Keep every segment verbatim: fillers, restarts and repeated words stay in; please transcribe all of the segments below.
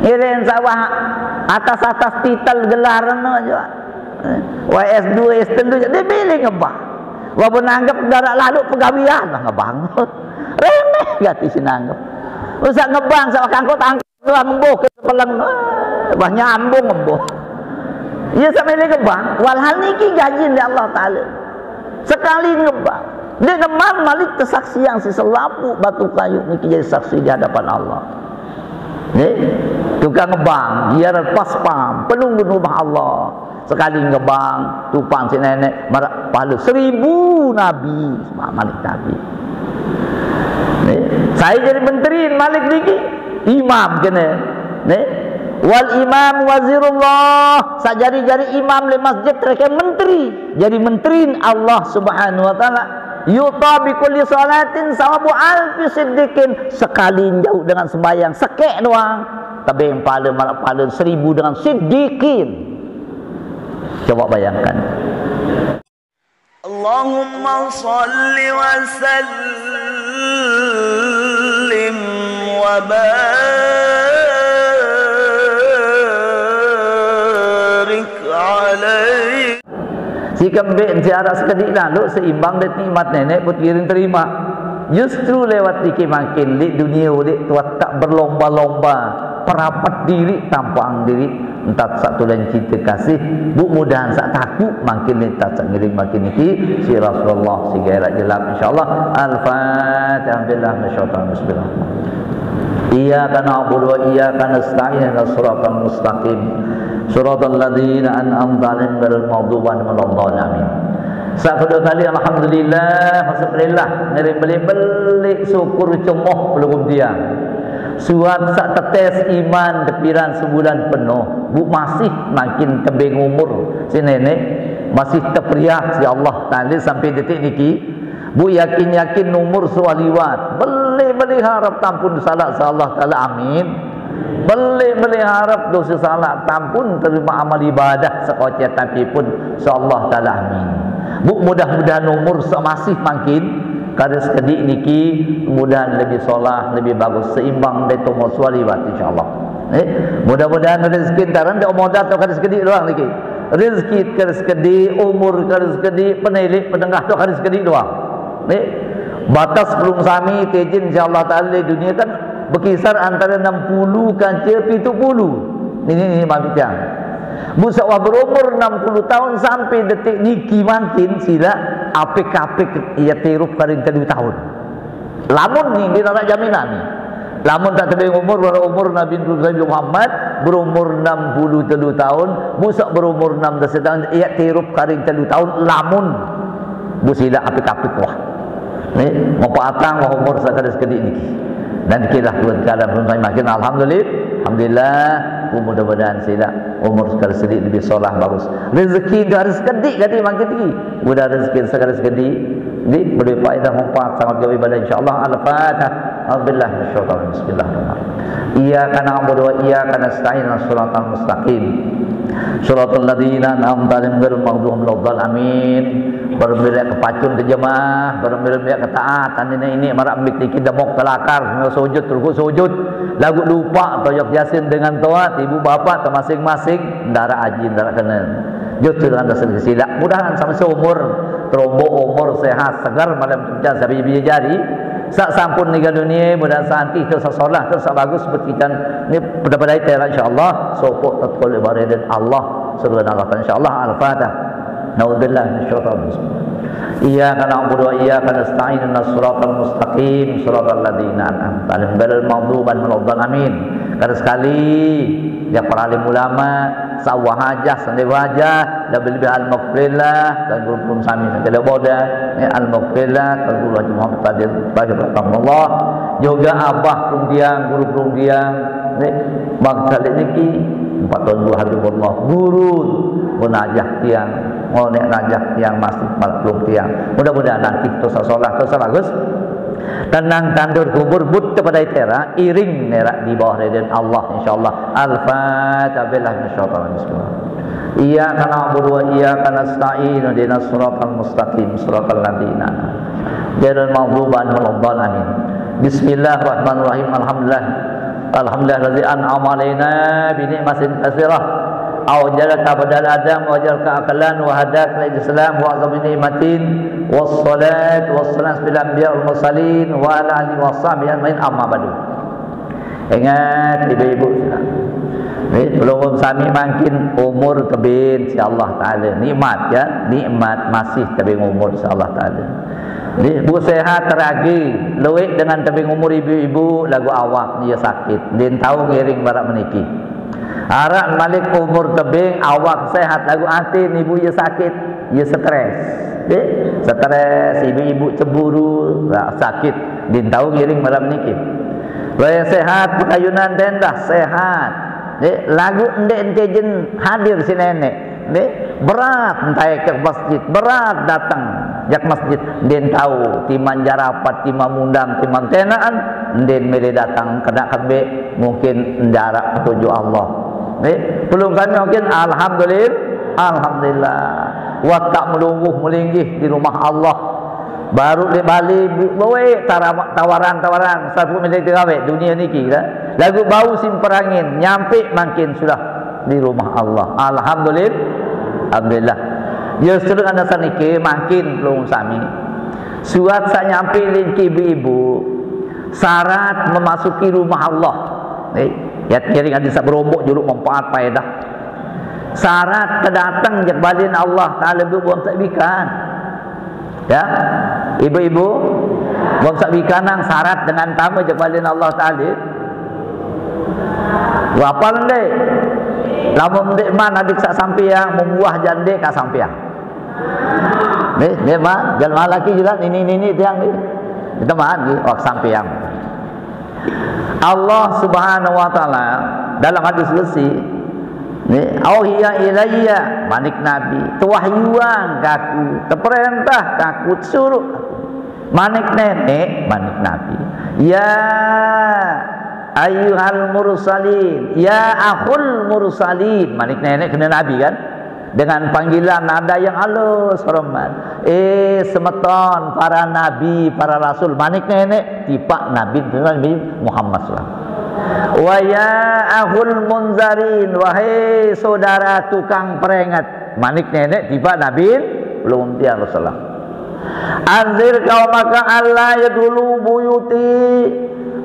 Kira sawah atas-atas titel gelar no aja. Wah S dua, S telu, dia pilih ngebang. Wah, nanggep darat lalu pegawian lah ngebang. Remeh gati si nanggep. Usah ngebang, sawah kangkut angkut doang embuh ke sepeleng. Wah, nyambung embuh. Iya, sampai dia ngebang, walhal niki gaji dari Allah Ta'ala. Sekali ngebang. Dia ngebang malik kesaksian si selapu batu kayu niki jadi saksi di hadapan Allah. Nih, tukang ngebang, dia pas pam, penunggu rumah Allah. Sekali ngebang, tupang si nenek, marak pahala seribu nabi, malik nabi. Nih, saya jadi menteri malik niki, imam kena. Nih, wal imam wazirullah, sajari-jari imam le masjid terke menteri. Jadi menteri Allah Subhanahu wa Ta'ala. Yu'ta bi kulli salatin sawabu alfi siddiqin. Sekali jauh dengan sembahyang sekek doang, tebeng pahala, marak pahala seribu dengan siddiqin. Coba bayangkan. Allahumma salli wa sallim wa barik alaihi. Si kembek si arak sekedik lalu seimbang dek nikmat nenek pun kiring terima. Justru lewat diki makin di dunia udik tuat tak berlomba-lomba, perapat diri, tampang diri, entat satu lain cinta kasih, bu mudahan sak takut makin entat sak ngiring makin niki, si Rasulullah si gairat jelap insyaallah. Al-Fatihah. Billah minasyaitanir rajim. Iyyaka na'budu wa iyyaka nasta'in, ihdinas siratal mustaqim, siratal ladzina an'amta 'alaihim ghairil maghdubi 'alaihim waladdallin. Amin. Sak kedua kali alhamdulillah, masyukurillah, ngeri beli-beli syukur cemoh pelugum dia. Suat sak tetes iman tepiran sebulan penuh, bu masih makin tebeng umur si nenek, masih teperiah si Allah Ta'ala sampai detik niki. Bu yakin-yakin umur suah liwat. Beli-beli harap tampun salah si Allah Ta'ala, amin. Beli-beli harap dosa salah tampun, terima amal ibadah sekocet tapi pun si Allah Ta'ala, amin. Bu mudah-mudahan umur semasih makin kada sekedik niki, mudahan lebih solah, lebih bagus, seimbang dari umur suah liwat insyaallah. Eh, mudah-mudahan rezeki entaran dek modal tu kada sekedik doang niki. Rezeki kada sekedik, umur kada sekedik, penelik penengah tu kada sekedik doang. Nih, batas pelung sami tejin insyaallah Ta'ala di dunia kan berkisar antara enam puluh kanca pitu puluh. Ini, ini mabit yang. Bu sawah berumur enam puluh tahun sampai detik niki makin sila apik-apik ia tirup karing telu tahun. Lamun ni, dia nak jaminan ni. Lamun tak tebeng umur, walau umur Nabi Nabi Muhammad berumur enam puluh telu tahun, busak berumur enam belas tahun, ia tirup karing telu tahun, lamun bu sila apik-apik wah. Ni, mempatang wah umur sekali sekedik niki. Dan kira tuan kalam pun makin alhamdulillah, alhamdulillah, mudah-mudahan sila umur sekali sekedik lebih solah bagus. Rezeki tu harus sekedik kali makin tinggi. Mudah rezeki sekali sekedik. Jadi, boleh faedah manfaat sangat jauh ibadah insyaallah. Al-Fatihah. Alhamdulillah, insyaallah. Bismillahirrahmanirrahim. Iyyaka na'budu wa iyyaka nasta'in, siratal mustaqim. Siratal ladzina an'amta 'alaihim ghairil maghdubi 'alaihim waladdallin. Amin. Berembiak ke pacun ke jemaah, berembiak ke taat, ini ini marak mik dikit demok kelakar, sujud terus sujud. Lagu lupa toyok Yasin dengan toat, ibu bapak termasing-masing, ndara aji, ndara kena. Justru dengan dasar silap. Mudahan sama seumur, terombo umur, sehat, segar, malam kerja, sabi biji jari. Sak sampun ninggal dunia, mudahan santi tu sasolah tu sabagus seperti kita ni pada-pada terak insyaallah. Sopok tetkol ibarat Allah, seruan Allah insyaallah. Al-Fatihah. Naudzubillah minasyaitanir rajim. Iyyaka na'budu wa iyyaka nasta'in, ihdinas siratal mustaqim, siratal ladzina an'amta 'alaihim ghairil maghdubi 'alaihim waladdallin. Amin. Kada sekali, ya para alim ulama, sawah aja, sendiri aja, lebih-lebih al-maghfirlah, dan guru pun sami tidak boda, ya, al-maghfirlah, dan guru Haji Muhammad Qadir, Tahir rahimahullah, juga abah pun dia, guru pun dia, ya, bangsa niki, empat tahun guru Habibullah, guru, pun aja tiang, ngonek aja tiang, masih maklum tiang. Mudah-mudahan nanti tu sasolah, tu bagus. Tenang tandur kubur but kepada tera, iring nerak di bawah ridin Allah insyaallah. Al-Fatihah. Billah minasyaitanir rajim. Iyyaka na'budu wa iyyaka nasta'in, ihdinas siratal mustaqim, siratal ladzina ghairil maghdubi 'alaihim waladdallin. Amin. Bismillahirrahmanirrahim. Alhamdulillah. Alhamdulillahilladzi an'ama alaina bi ni'matin katsirah. Awjadaka ba'dal adam wa ja'alaka aqlan wa hadaka lil Islam wa a'zami ni'matin. Wassalatu wassalamu ala anbiya wal mursalin wa ala alihi wa sahbihi ajmain, amma ba'du. Ingat ibu-ibu sila. Ni, pelungguh sami mangkin umur tebing si Allah Taala. Nikmat ya, nikmat masih tebing umur si Allah Taala. Ni, bu sehat teragi, luik dengan tebing umur ibu-ibu lagu awak dia sakit. Din tahu ngiring barak meniki. Arak malik umur tebing, awak sehat lagu ati ni bu ia sakit, ia stres. Dek, stres, ibu-ibu cemburu, ra-, sakit. Din tahu ngiring barak meniki. Raya sehat, pekayunan tendah, sehat. Dek, lagu ndek ente jen hadir si nenek. Dek, berat entai ke masjid, berat datang jak masjid. Din tahu, timan jarapat, timan mundang, timan tenaan, din milih datang kena kembik, mungkin ndarak petunjuk Allah. Dek, pelungguh sami mungkin, alhamdulillah, alhamdulillah. Watak melungguh melinggih di rumah Allah. Baru di Bali, bu-, bawa tara-, tawaran-tawaran, sapu milik terawih dunia niki lah. Lagu bau simperangin, nyampe mangkin sudah di rumah Allah. Alhamdulillah. Alhamdulillah. Ya, sedang ada saniki, mangkin pelungguh sami. Suat sa nyampe lagi ibu-ibu, syarat memasuki rumah Allah. Eh, ya, ngiring hadis berombok juluk manfaat faedah. Syarat kedatang jak balin Allah Taala bu buang tak bikan. Ya, ibu-ibu, buang tak bikan nang syarat dengan tama jak balin Allah Taala. Berapa ndek? Lamun ndek man adik sak sampiang, membuah jandek ka sampiang. Ni, ni mah, jelma laki juga nini-nini tiang ni. Kita mah ni, wak sampiang. Allah Subhanahu wa Taala dalam hadis qudsi, ni, "Auhiya ilayya," manik Nabi, "tewahyuan kaku, teperintah kaku, suruh." Manik nenek, manik Nabi, "Ya ayyuhal mursalin, ya akhul mursalin." Manik nenek kena Nabi kan? Dengan panggilan nada yang halus, hormat. "Eh, semeton para nabi, para rasul." Manik nenek, tipak Nabi, Nabi Muhammad sallallahu alaihi wasallam. "Wa ya akhul munzarin," wahai saudara tukang peringat. Manik nenek, tipak Nabi, belum tiang Rasulullah. "Anzir qaumaka alla yadkhulu buyuti,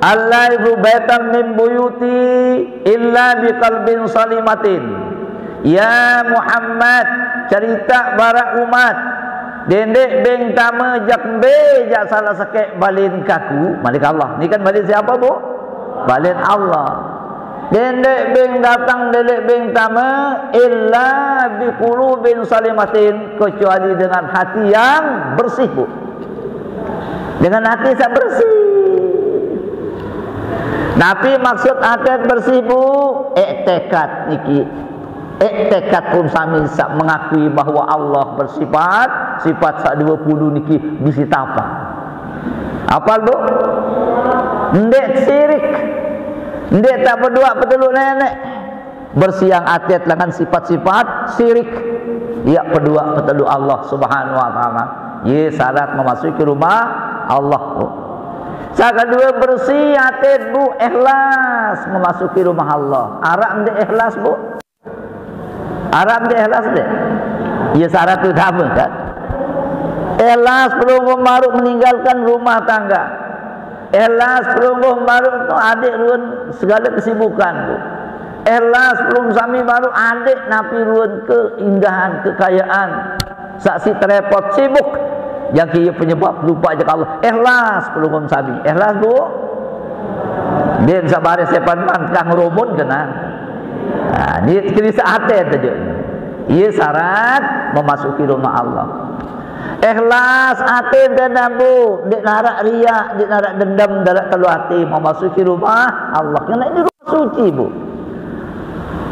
alla yadkhulu baitan min buyuti illa biqalbin salimatin." Ya Muhammad, cerita barak umat, dendek beng tama jak mbe jak salah sekek balin kaku, manik Allah. Ni kan balin siapa, bu? Balin Allah. Dendek beng datang, dendek beng tama, illa biqulubin salimatin, kecuali dengan hati yang bersih, bu. Dengan hati yang bersih. Napi maksud hati bersih, bu? Iktikad niki. Iktikad pun sami sak mengakui bahwa Allah bersifat, sifat sak dua puluh niki bisi tapa. Apal, bu? Ndek sirik. Ndek tak bedua peteluk nenek. Bersiang atet dengan sifat-sifat sirik. Ya, bedua peteluk Allah Subhanahu wa Taala. Ye syarat memasuki rumah Allah, bu. Yang kedua, bersih atet, bu, ikhlas memasuki rumah Allah. Arak ndek ikhlas, bu? Arak ndek ikhlas ndek? Ya, syarat utama kan. Ikhlas pelungguh baru meninggalkan rumah tangga. Ikhlas pelungguh baru tu adik ruan segala kesibukan tu. Ikhlas pelungguh sami baru adik napi ruan keindahan, kekayaan. Saksi terepot sibuk. Yang kira penyebab lupa je Allah. Ikhlas pelungguh sami. Ikhlas, bu? Din sabar sepan man kang rumun kena. Nah, ni kiri sehati saja. Ia syarat memasuki rumah Allah. Ikhlas hati dan bu, ndik narak riak, ndik narak dendam, narak telu hati memasuki rumah Allah. Kerana ini rumah suci, bu.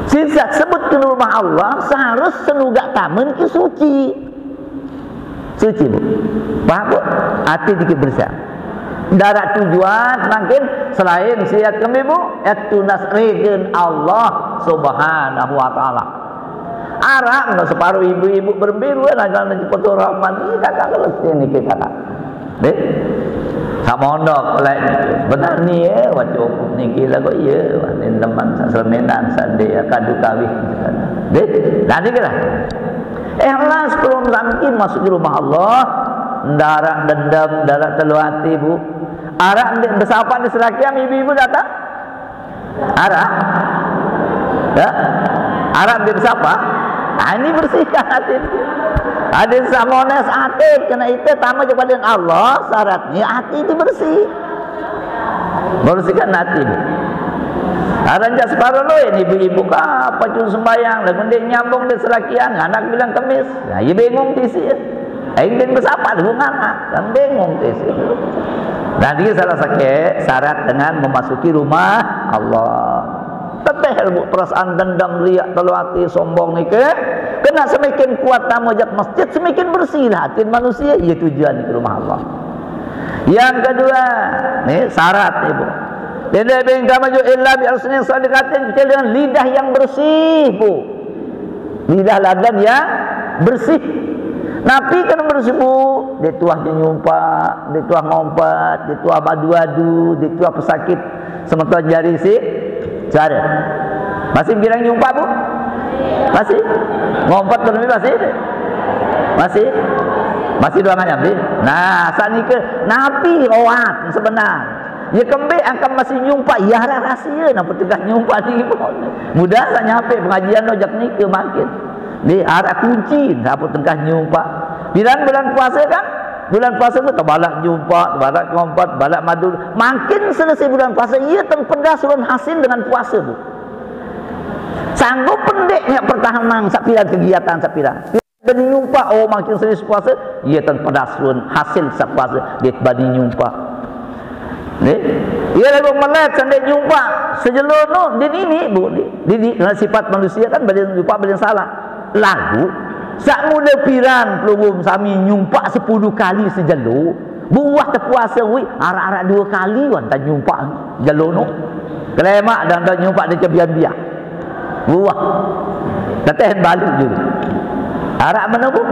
Sisa sebut ke rumah Allah, seharus senugak taman ke suci. Suci, bu. Faham, bu? Hati dikit bersih. Darat tujuan makin selain siat kami, bu, itu nas ridin Allah Subhanahu wa Taala. Arab no separuh ibu-ibu berembiru, eh, naga na jeput Rahman. Ini kakak kalau sini kita, kak. Dek? Mondok lain. Benar ni ya, baca hukum ni gila kok ya. Ni teman sasraminan sandi ya, kadu kawih. Deh, nanti kira. Ikhlas belum sampai masuk di rumah Allah. Ndak arak dendam, ndak arak telu hati, Bu. Arak ndak bersapa di serakian, ibu-ibu datang. Arak? Ya? Arak ndak bersapa? Ah, ini bersihkan hati. Ada samones hati, kena itu tambah kepada Allah, syaratnya hati itu bersih. Bersihkan hati. Aran jak separuh lu, ini ibu-ibu ka, apa cuma sembayang, lagu dia nyambung di serakian, anak bilang kemis. Nah, ia bingung di sini. Aing din bersapa tu anak, kan bingung di sini. Nah, dia salah sakit syarat dengan memasuki rumah Allah. Teteh ilmu perasaan dendam, riak, telu hati, sombong ni ke. Kena semakin kuat tamu jak masjid, semakin bersih lah hati manusia. Ia tujuan ke rumah Allah. Yang kedua, ni syarat ni, Bu. Tidak bingkah maju illa bi alsinin sadiqatin, kecuali dengan lidah yang bersih, Bu. Lidah ladan yang bersih. Napi kena bersih, Bu? Di tuah nyumpak, di tuah ngompat, di tuah badu-adu, di tuah pesakit semeton jari si suara. Masih bilang nyumpak, Bu? Masih? Ngompat tu lebih masih? Masih? Masih dua nganyam, Bi? Nah, saat ni ke napi oat sebenar. Ya kembali akan masih nyumpak, ya arah rahsia, nampak tegah nyumpak ni. Mudah saya nyampe pengajian lo jak ni ke makin. Ni arah kunci, nampak tegah nyumpak. Bilang bulan puasa kan? Bulan puasa tu terbalak nyumpak, terbalak ngompat, terbalak madu. Makin selesai bulan puasa, ia terpedas turun hasil dengan puasa tu. Sanggup pendeknya pertahanan sapira kegiatan sapira. Bani nyumpak, oh, makin serius puasa, ia tan pedas pun hasil sat puasa, dia bani nyumpak. Ni, ia lagu melet sandai nyumpak, sejelo no, dia nini, Bu, dia, dia, dia, sifat manusia kan, bani nyumpak, bani salah. Lagu, sak mula piran, pelungum sami nyumpak sepuluh kali sejelo, buah terpuasa, wih, arak-arak dua kali, wan, tak nyumpak, jelo no. Kelemak dan tak nyumpak, dia kebian-bian. Buah. Teteh balu juga. Arak mana, Bu?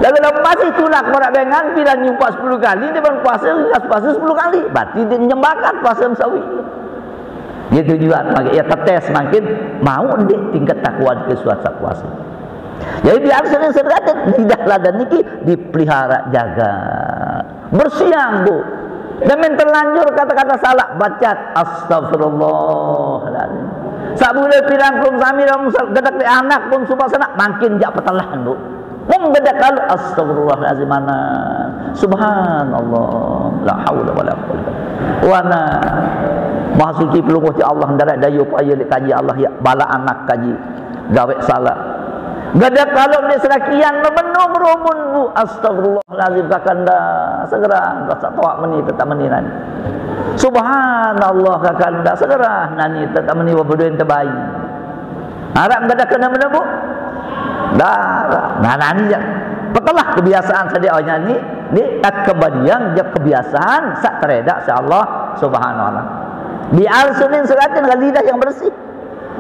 Lalu lepas itu lah, korak dengan, bila nyumpak sepuluh kali, dia pun puasa, ringas puasa sepuluh kali. Berarti dia nyembakan puasa mesawi. Dia tujuan, maka ia tetes makin mau dia tingkat takwa di kesuat puasa. Jadi biar sering-sering lidah ladan niki dipelihara, jaga. Bersiang, Bu. Dan main terlanjur kata-kata salah, baca astagfirullahaladzim. Sabula pirang pun sami dalam gedek di anak pun sumpah sana, makin jak petelahan, Bu. Mung gedek kalau astagfirullahaladzim mana. Subhanallah. La haula wala quwwata. Wana. Maha suci pelungguh ti Allah, darat dayu paya di kaji Allah ya, bala anak kaji. Gawe salah. Gada kalau ni serakian memenung rumun, Bu. Astagfirullahalazim, kakanda. Segera rasa tuak meni tetap meni nani. Subhanallah, kakanda. Segera nani tetap meni wabedoin tebai. Harap gada kena mena, Bu. Dah. Nah, nani je. Petelah kebiasaan sadia nya ni, ni tak kebadian je kebiasaan sak teredak si Allah Subhanahu wa taala. Biar sunin seratin lidah yang bersih.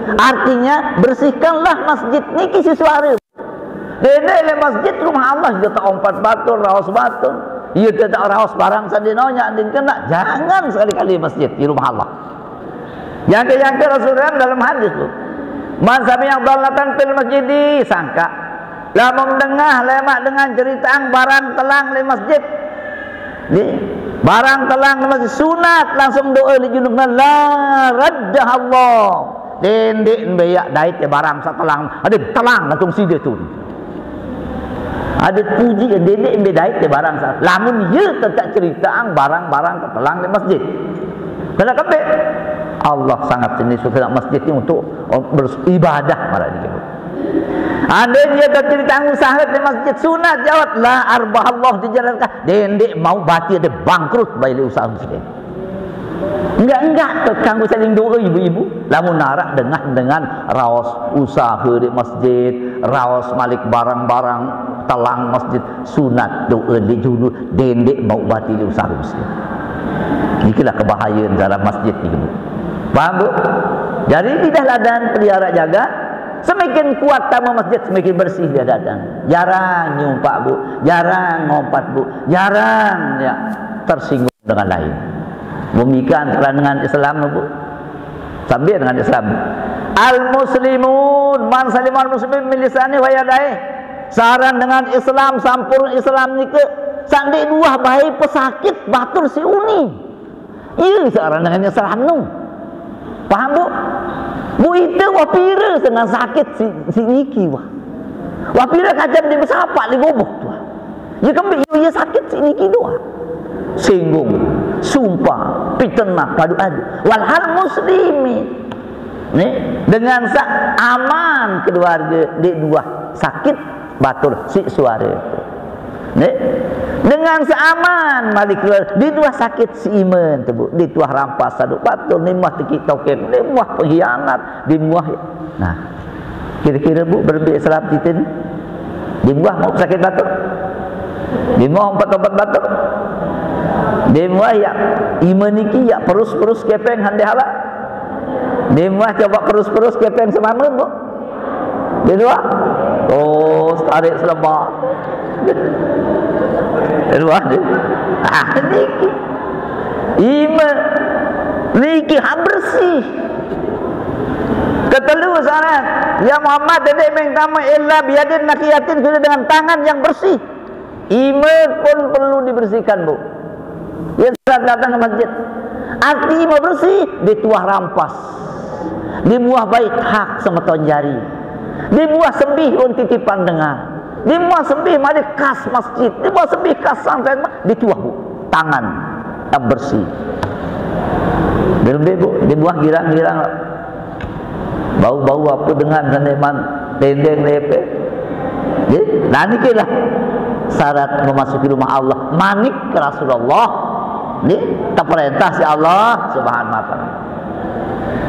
Artinya, bersihkanlah masjid niki si suara. Dene le masjid rumah Allah, dia tak ompat batur, raos batur. Ia tak raos barang sandi nonya, andin kena. Jangan sekali-kali masjid di rumah Allah. Yang ke, yang ke Rasulullah dalam hadis tu. Man sami'a dhalatan fil masjidi, sangka. Lamun dengah lemak dengan cerita barang telang di masjid. Ni, barang telang di masjid sunat, langsung doa di junub, la raddahallah. Dendik beyak dait ya barang satelang. Ada telang langsung sida tu. Ada puji, dendik be dait ya barang satelang. Lamun ya tetap cerita barang-barang telang di masjid. Kena kepek. Allah sangat ini suka masjid ni untuk beribadah marah dia. Andai dia tak cerita usaha di masjid sunat jawab la arbahallah dijalankan. Dendik mau bati ada bangkrut baik usaha masjid. Enggak-enggak ke kanggo saling doa ibu-ibu. Lamun narak dengan, dengan raos usaha di masjid, raos malik barang-barang telang masjid, sunat doa di junub, dendik mau bati di usaha masjid. Inilah kebahayaan dalam masjid ni, Bu. Faham, Bu? Jadi lidah ladan pelihara jaga, semakin kuat tamu masjid, semakin bersih dia datang. Jarang nyumpak, Bu. Jarang ngompat, Bu. Jarang ya tersinggung. dengan lain. Memikirkan antara dengan Islam tu, Bu. Sambil dengan Islam. Al-muslimun man salimal muslimin min lisani wa yadai. Saran dengan Islam, sampurna Islam nika, sandi dua bae pesakit batur si uni. Iya, saran dengan Islam tu. Paham, Bu? Bu, ite wah pira dengan sakit si, si niki wah. Wah pira kacam di besapak di gobok tu. Wah. Ya kembi, ya, ya sakit si niki doa. Singgung, sumpah, fitnah, padu adu. Walhal muslimin. Ni, dengan sa aman keluarga di dua sakit batur si suara tu. Ni, dengan sa aman malik keluarga di dua sakit si iman tu, Bu. Di tuah rampas saduk batur, ni muah tekik token, ni muah pengkhianat, di muah. Nah, kira-kira, Bu, berembe Islam kita ni? Di muah mau sakit batuk? Di muah empat obat batuk? Di muah ya iman niki ya perus-perus kepeng hande halak? Di muah coba perus-perus kepeng semama, Bu? Di luar? Oh, tarik selebar. Di luar ni. Ah, niki. Iman niki ha bersih. Ketelu syarat. Ya Muhammad, dedek meng tama illa biyadin naqiyatin, kena dengan tangan yang bersih. Iman pun perlu dibersihkan, Bu. Ya, saat datang ke masjid. Arti iman bersih, di tuah rampas. Di muah baik hak semeton jari. Di muah sembih un titipan dengar. Di muah sembih mari kas masjid. Di muah sembih kas sangkan, di tuah, Bu. Tangan yang bersih. Di lebih, Bu, di muah girang-girang. Bau-bau apa dengan seniman tendeng lepe. Jadi, nah, niki lah syarat memasuki rumah Allah. Manik ke Rasulullah. Ni terperintah si Allah Subhanahu wa taala.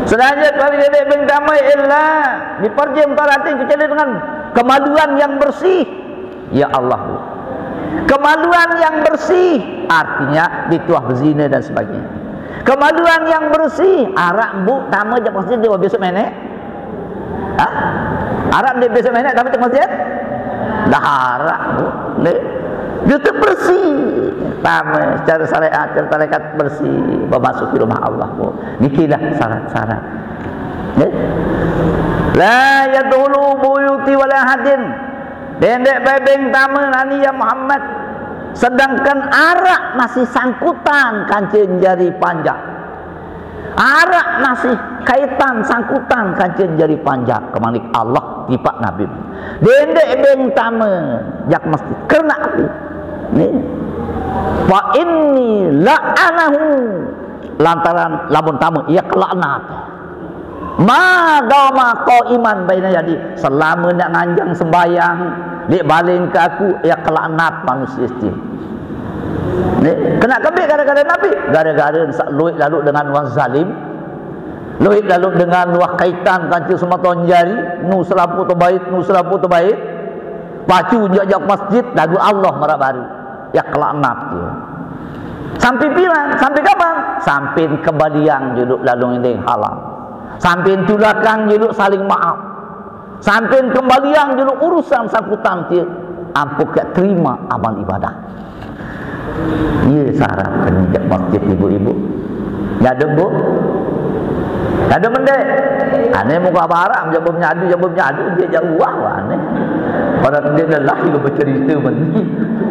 Selanjutnya, kalau jadi bintama illa diperjem taratin kecuali dengan kemaluan yang bersih. Ya Allah, Bu. Kemaluan yang bersih artinya dituah berzina dan sebagainya. Kemaluan yang bersih, arak, Bu, tama jak masjid dia besok menek. Ha? Arak dia besok menek, tapi tak masjid? Dah arak, Bu. Ni. Dia tu bersih. Tama secara syariat, secara tarekat bersih, memasuki rumah Allah, Bu. Nikilah syarat-syarat. Ni. La yadkhulu buyuti wala hadin. Dendek bebeng tama nani ya Muhammad. Sedangkan arak masih sangkutan kancing jari panjang. Arak masih kaitan sangkutan kancing jari panjang. Kemanik Allah tipak Nabi. Dendek beng tama jak masjid. Kerana api. Ni. Fa inni la'anahu. Lantaran lamun tama, ia kelaknat. Ma dama qaiman baina yadi, selama nak nganjang sembayang, dik baling ke aku, ya kelaknat manusia tu. Ni, kena kebik gara-gara Nabi, gara-gara sak luit lalu dengan orang zalim, luit lalu dengan luah kaitan kancu sematon jari, nu selapu terbaik, nu selapu terbaik, pacu jak-jak masjid, lagu Allah marah baru, ya kelaknat dia. Sampai pila, sampai kapan? Sampai kembalian juluk lalu inding halam. Sampai tulakang juluk saling maaf. Sampai kembalian juluk urusan sangkutan tia. Ampuh ke terima amal ibadah. Iya syarat penjak masjid ibu-ibu. Nyaduk, Bu? Nyaduk mendek. Ane muka barak, jabu menyadu, jabu menyadu, dia jauh wah, wah, ane. Pada dia lelah juga bercerita meni.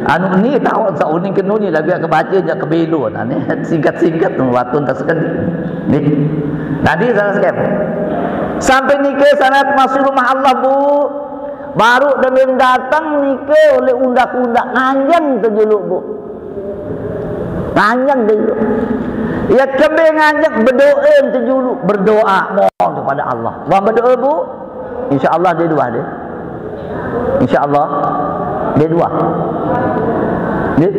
Anu ni tahu sauning kenu ni lagi ke baca jak kebelon, ane. Singkat-singkat tu, watun tak sekali. Ni. Tadi salah skip. Sampai nikah syarat masuk rumah Allah, Bu. Baru demi datang nikah oleh undak-undak nganjang tu juluk, Bu. Nganjang tu juluk. Ya kembe nganjang berdoa tu juluk, berdoa mohon kepada Allah. Wah berdoa, Bu. Insya Allah dia dua dia. Insya Allah dia dua. Dia.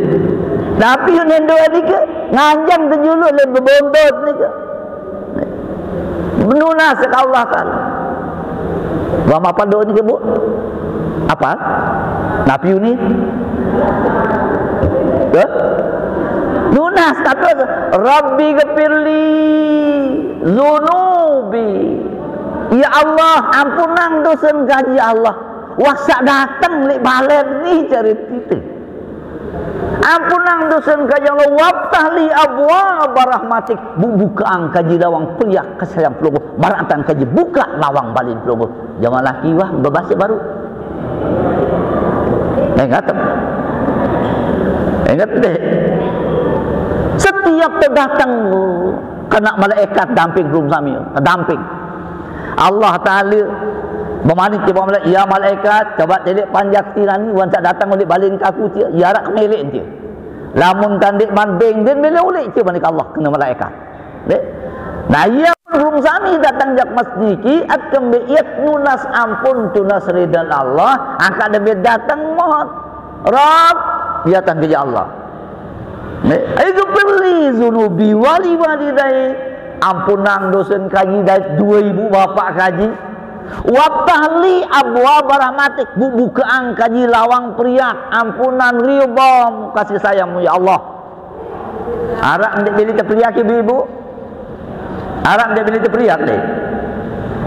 Tapi yang doa ni ke nganjang tu juluk le berbondot ni ke. Menunas ke Allah Taala. Wa ma padu ni ke, Bu? Apa? Napi ni? Ke? Nunas kata, "Rabbi ghafirli zunubi." Ya Allah, ampunang dosa kaji Allah. Wah sak datang lek balai ni cara kita. Ampunang dosen ka ya Allah, waftah li abwaba rahmatik. Bu-, bukaang ka ji lawang periak kasih sayang Pelungguh. Maraq entan ka ji buka lawang balen Pelungguh. Jaman laki wah bebase baru. Ingat. Ingat deh. Setiap tedatang kena malaikat damping belum sami, damping. Allah Taala bemanik kepada malaikat, "Ya malaikat, coba telik panjak tirani, wan tak datang oleh balen kaku tia, ya arak kemelek tia." Lamun tandik manding din mele ulik tia manik Allah kena malaikat. Dek. Nah, ia belum sami datang jak masjid ki, akan be iat nunas ampun tunas ridan Allah, angkat demi datang mohon. Rob, ia tangke ya Allah. Ighfirli zunubi wali walidai. Ampunang dosen kaji dait dua ibu bapak kaji. Waftah li abwaba rahmatik. Bu-, bukaang kaji lawang periak ampunan ridha kasih sayang ya Allah. Araq ndeq beli teperiak ibu-ibu. Araq ndeq beli teperiak deh.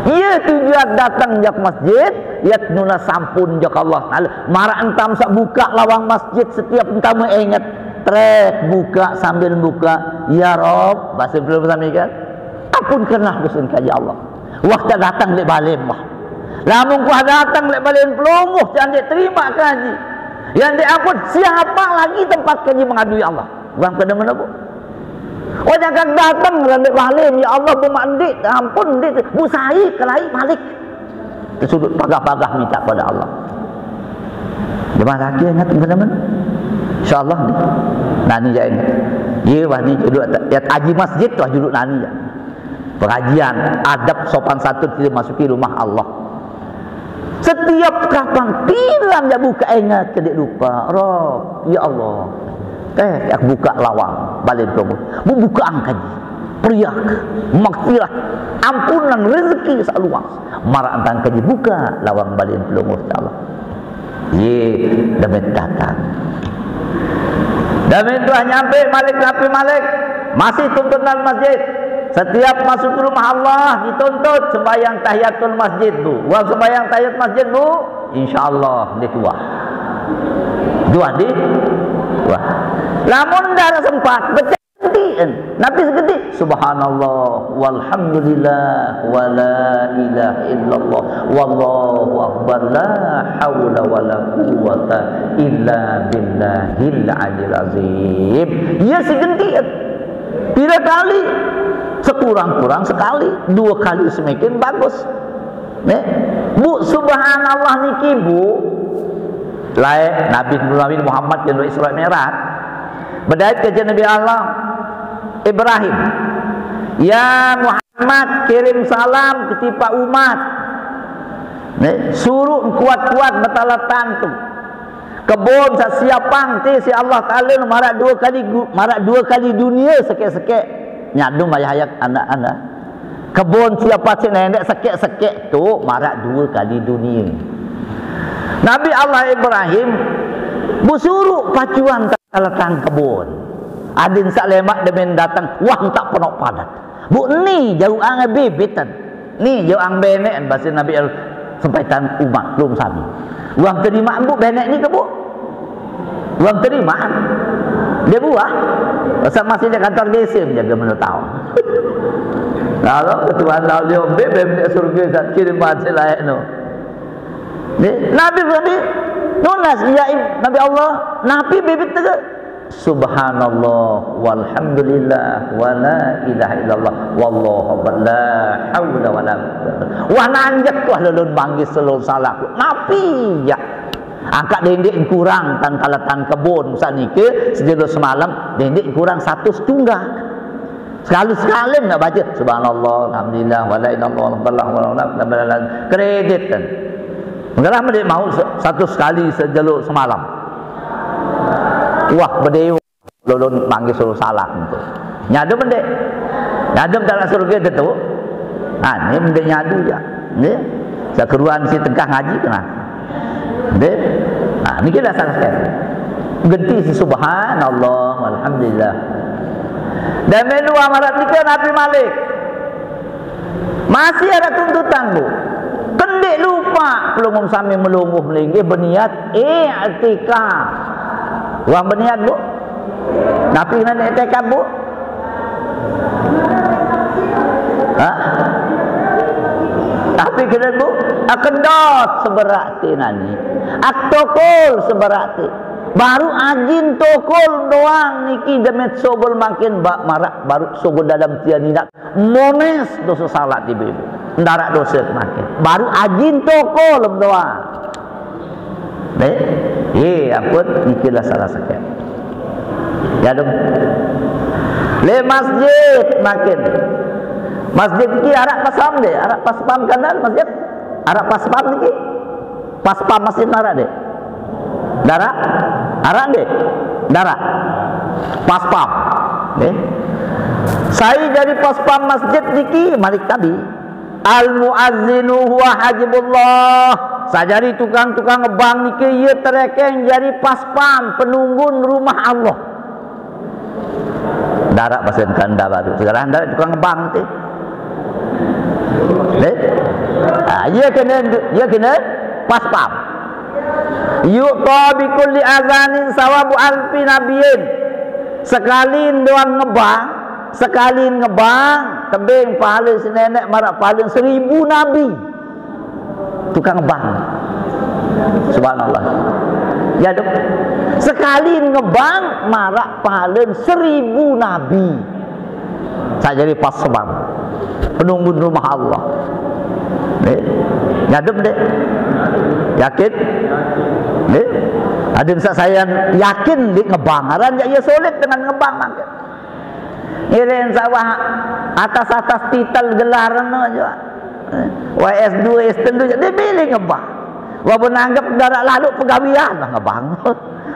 Ia tujuan datang jak masjid, ia nunas ampun jak Allah Taala. Maraq entam saq buka lawang masjid setiap entam inget. Trek buka sambil buka, "Ya Rob," bahasa Pelungguh sami kan? "Ampunkanlah dosen kaji Allah." Wah tak datang leq balen wah. Lamun kuah datang leq balen Pelungguh, jangan dek terima kaji. Yang dek ampun, siapa lagi tempat kaji mengadui Allah? Wah kena mana bu? Oh jangan datang leq balen, ya Allah, bu mandik, ampun, ndik, bu sai kelai malik. Tersudut pagah-pagah minta pada Allah. Jemaah laki ingat teman-teman. InsyaAllah ni. Nani ya ingat. Ye wah ni judul ya, aji masjid tu judul nani ya. Pengajian adab sopan santun kita masuki rumah Allah. Setiap kapan piran ya buka ingat ke dek lupa. Rob, ya Allah. Eh, aku buka lawang balen Pelungguh. Bu buka angkaji. Periak, maghfirah, ampunan rezeki saq luas. Maraq entan kaji buka lawang balen Pelungguh, insyaallah. Ye, dame datang. Dame tuah nyampe malik napi malik, masih tuntutan masjid. Setiap masuk ke rumah Allah dituntut sembahyang tahiyatul masjid, Bu. Wah sembahyang tahiyat masjid, Bu, insyaallah dia tuah. Tuah di tuah. Lamun dah sempat, genti. Napi segenti? Subhanallah, walhamdulillah, wala ilaha illallah, wallahu akbar, la haula wala quwwata illa billahil aliyil azim. Ia segenti. Pira kali? Sekurang-kurang sekali, dua kali semakin bagus. Ne? Bu, subhanallah niki, Bu. Lae Nabi, Nabi Muhammad yang Isra Mi'raj. Bedait kance Nabi Allah Ibrahim. Ya Muhammad, kirim salam ke tipaq umat. Ne? Suruq kuat-kuat betaletan tu. Kebon saq siapang te siq Allah Taala maraq due kali gu-, maraq due kali dunie sekeq-sekeq. Nyadum ayah-ayah anak-anak. Kebon siapa sih nendek sekeq-sekeq tu maraq due kali dunie. Nabi Allah Ibrahim besuruq pacuan taletan kebon. Adin saq lemaq demen dateng, wah, entak penoq padat. Bu ni jauqang bibiten. Ni jauqang beneqen, base Nabi Allah, sempaitan umat lum sami. Wah terimaq bu beneq ni ke bu? Wah terimaq. Dia buah. Pasal masih di kantor desa menjaga menurut tahu. Kalau ketua Allah dia be beneq surga sat kirim bahasa lain tu. Ni, Nabi Nabi nunas ya Nabi Allah, napi bibit tu? Subhanallah, walhamdulillah, wala ilaha illallah, wallahu akbar, la haula wala quwwata. Wah nanjak wah lolon manggis lolon salak. Napi ya? Angkat dendik kurang tan kaletan kebon sanike sejelo semalam dendik kurang satu setunggal. Sekali-sekali nak baca subhanallah, alhamdulillah, wala ilaha illallah, wallahu akbar, kredit kan. Mengapa dia mau satu sekali sejelo semalam? Wah, bedeu lolon manggis suruh salah tu. Nyadum mendek. Nyadum dalam surga tu. Ha, ni mendek nyadu ya. Ni. Sekeruan si tengah ngaji kena. Deh. Ha, ni kita salah sekali. Genti si subhanallah, alhamdulillah. Dan menu amarat tiga Nabi Malik. Masih ada tuntutan, Bu. Kendik lupa pelungguh sami melungguh melinggih berniat iktikaf. Wah berniat, Bu. Tapi kena iktikaf, Bu. Ha? Tapi kena, Bu. Akedot seberat ti nani. Aktokol seberat ti. Baru ajin tokol doang niki demet sogol makin bak marak baru sogol dalam tian indak. Mones dosa salat ibu-ibu. Ndarak dosa kemakin. Baru ajin tokol doang. Deh, ye ampun, nikilah salah sakit. Ya dong. Le masjid makin. Masjid niki arak pasam deh, arak paspam kanan masjid. Arak paspam niki. Paspam masjid arak deh. Darak? Arak deh. Darak. Paspam. Deh. Saya jadi paspam masjid niki malik tadi. Al muazzinu huwa hajibullah. Sajari tukang-tukang ngebang niki ye terekeng jari paspam penunggun rumah Allah. Darak pasen kanda baru. Sekarang darak tukang ngebang ti. Deh? Ah, ye kena, ye kena paspam. Yu'ta bi kulli azanin sawabu alfi nabiyin. Sekali doang ngebang, sekali ngebang, tebing pahala si nenek marak pahala seribu nabi. Tukang ngebang. Subhanallah. Ya dok. Sekali ngebang marak pahala seribu nabi. Saya jadi paspam. Penunggu rumah Allah. Deh. Ngadep deh. Yakin? Deh. Ada misal saya yakin di ngebang. Aran ya sulit dengan ngebang makin. Ngiring sawah atas-atas titel gelar no aja. Wa S dua, S telu, dia pilih ngebang. Walaupun anggap darak lalu pegawian lah ngebang.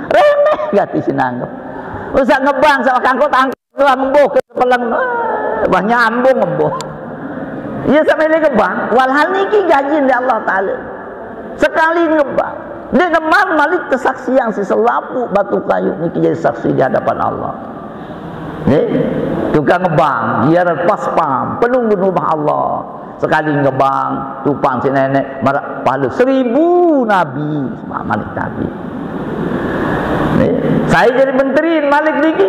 Remeh gati sinanggap. Usah ngebang, sawah kangkut angkut doang embuh ke sepelang. Wah nyambung embuh. Iya sampai dia ngebang. Walhal niki gaji dari Allah Ta'ala. Sekali ngebang. Dia ngebang malik kesaksian si selapu batu kayu niki jadi saksi di hadapan Allah. Nih, tukang ngebang, ziarah paspam, penunggu rumah Allah. Sekali ngebang, tupang si nenek, marak pahala seribu nabi, malik nabi. Nih, saya jadi menteri malik niki,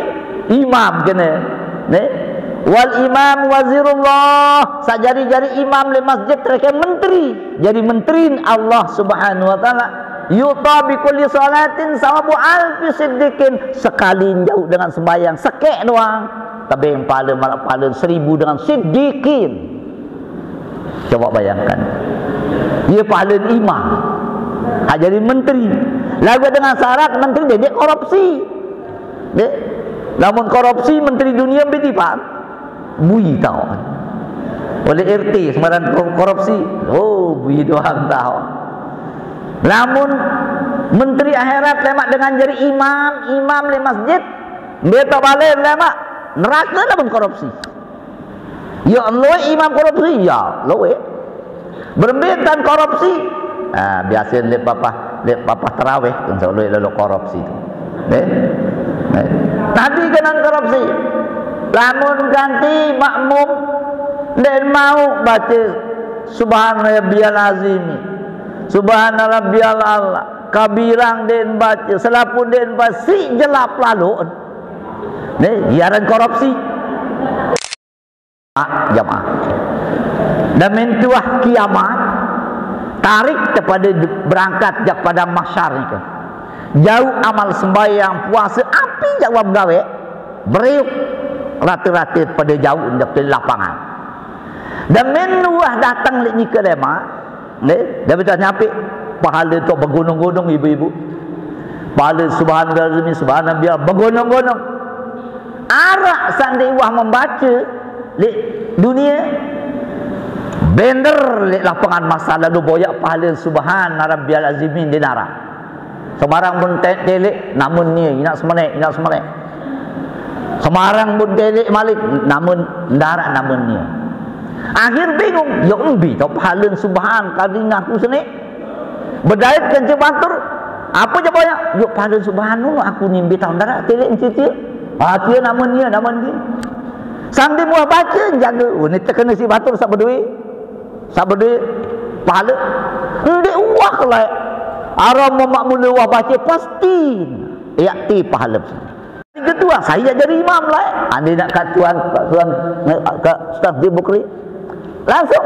imam kena. Nih, wal imam wazirullah, sajari-jari imam le masjid terkena menteri. Jadi menteri Allah Subhanahu wa taala. Yu'ta bi kulli salatin sawabu alfi siddiqin. Sekali jauh dengan sembahyang sekek doang, tebing pahala marak pahala seribu dengan siddiqin. Coba bayangkan. Dia pahala imam. Ha, jadi menteri. Lagu dengan syarat menteri dia, dia korupsi. Dek, lamun korupsi menteri dunia beti pan. Bui tau. Oleh R T sembarang ko-, korupsi. Oh, bui doang tau. Lamun menteri akhirat lemak dengan jadi imam, imam le masjid, beta balik lemak neraka lamun korupsi. Ya Allah, imam korupsi, ya Allah. Berembitan korupsi. Ah, biasa lek papah, lek papah tarawih tu, insya Allah lalu korupsi tu. Eh? Eh? Nabi kena korupsi. Lamun ganti makmum, dia mau baca Subhana Rabbiyal Azim, Subhana Rabbiyal A'la, kabirang dia baca, selapu dia baca, si jelap lalu. Ni, iaran korupsi. Jamaah. Dan mentuah kiamat, tarik kepada berangkat jak pada mahsyar ni ke. Jauh amal sembahyang, puasa, api jauh gawe, beriuk rata-rata pada jauh jak ke lapangan. Dan mentuah datang lek ni ke lemak, Deh, dah betul nyampe pahala tu bergunung-gunung ibu-ibu. Pahala subhanallah, subhanallah bergunung-gunung. Arak sandi wah membaca di dunia. Bender lek lapangan masa lalu boyak pahala subhana rabbiyal azimin di narak. Sembarang pun te-, telek namun ni inak semenek, inak semenek. Sembarang pun telek malik namun darak namun ni. Akhir bingung, ya embi tau pahala subhan kali ngaku sini. Bedait kance batur, apa je banyak? Yuk pahala subhan aku ni embi tau darak telek encicil. Ah, dia namun dia, namun dia. Sambil muah baca jaga. Oh, ni terkena si batur sab berdua. Sab berdua pahala. Ndik wah kelai. Aram mak mula wah baca pasti. Yakti pahala. Ketua, saya jadi imam lah. Andi nak kat tuan, kat tuan, kat Ustaz Dibukri. Langsung.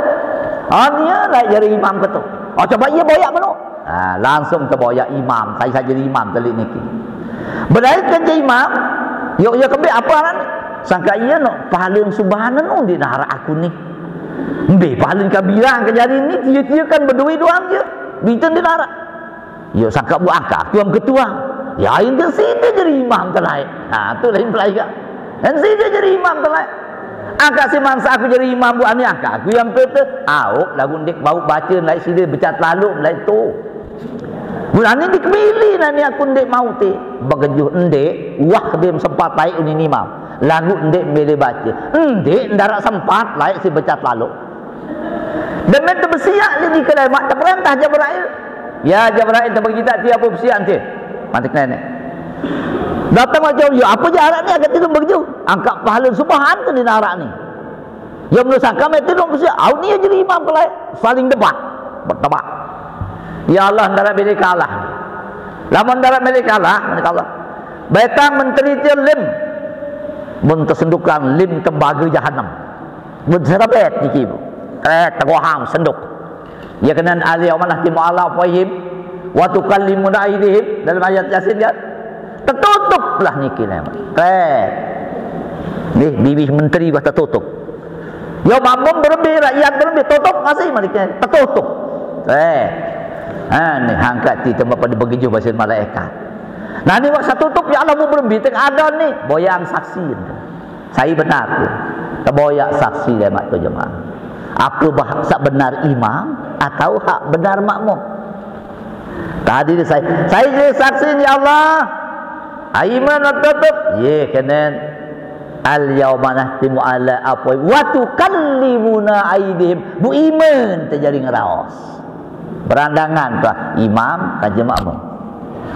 Oh, nia lah jadi imam ketua. Oh, coba ia boyak mano. Ha, langsung terboyak imam. Saya, saya jadi imam telik niki. Berlaikan je imam, yuk ia kembali apa kan? Sangka ia nak pahala subahan anu di nara aku ni. Mbe pahala kabilang ke jari ni, tia-tia kan berdua doang je. Bintang di nara. Yo sangka buat angka aku yang ketua. Ya, yang ke sini jadi imam telai. Ha, tu lain pelai ka. Yang sini jadi imam telai. Angka si mansa aku jadi imam buat ni angka aku yang pete. Au, lagu ndik bau baca lai sini becat lalu lai tu. Bulan ni dikemili nani aku ndik mau ti. Begejuh ndik, wah dia sempat tai unin imam. Lagu ndik mele baca. Ndik ndarak sempat lai si becat lalu. Demi terbesiak lagi kedai mak terperintah Jabrail. Ya Jabrail, terbagi tak tiap apa besiak nanti. Mati kena ni. Datang macam, ya apa je arak ni, agak tidur begitu. Angkat pahala subahan ke di narak ni. Ya menurut sangka mati dong besiak. Au ni jadi imam kelai. Saling debat. Bertebak. Ya Allah, ndara bila kalah. Lamun ndara bila kalah, mereka Allah. Betang menteri dia lim. Mun tersendukan lim tembaga jahanam. Mun serabet niki. Eh, tegoham senduk. Ya kena al-yauma nakhtimu ala afwahihim wa tukallimuna aydihim dalam ayat Yasin kan. Tertutuplah niki nama. Eh. Ni bibih menteri bah tertutup. Ya makmum berembi, rakyat berembi, tutup masih maliknya. Tertutup. Eh. Ha ni angkat ti tempat pada begitu bahasa malaikat. Nah ni waktu tutup ya Allah mu berembi tak ada ni. Boyang saksi. Saya benar tu. Terboyak saksi dia mak tu jemaah. Aku bah sak benar imam atau hak benar makmum. Tadi dia saya, saya jadi saksi ni Allah. Aiman tutup. Ye kenen. Al yauma nakhtimu ala afwahihim wa tukallimuna aydihim. Bu iman terjadi ngeraos. Berandangan tu imam kaja makmum.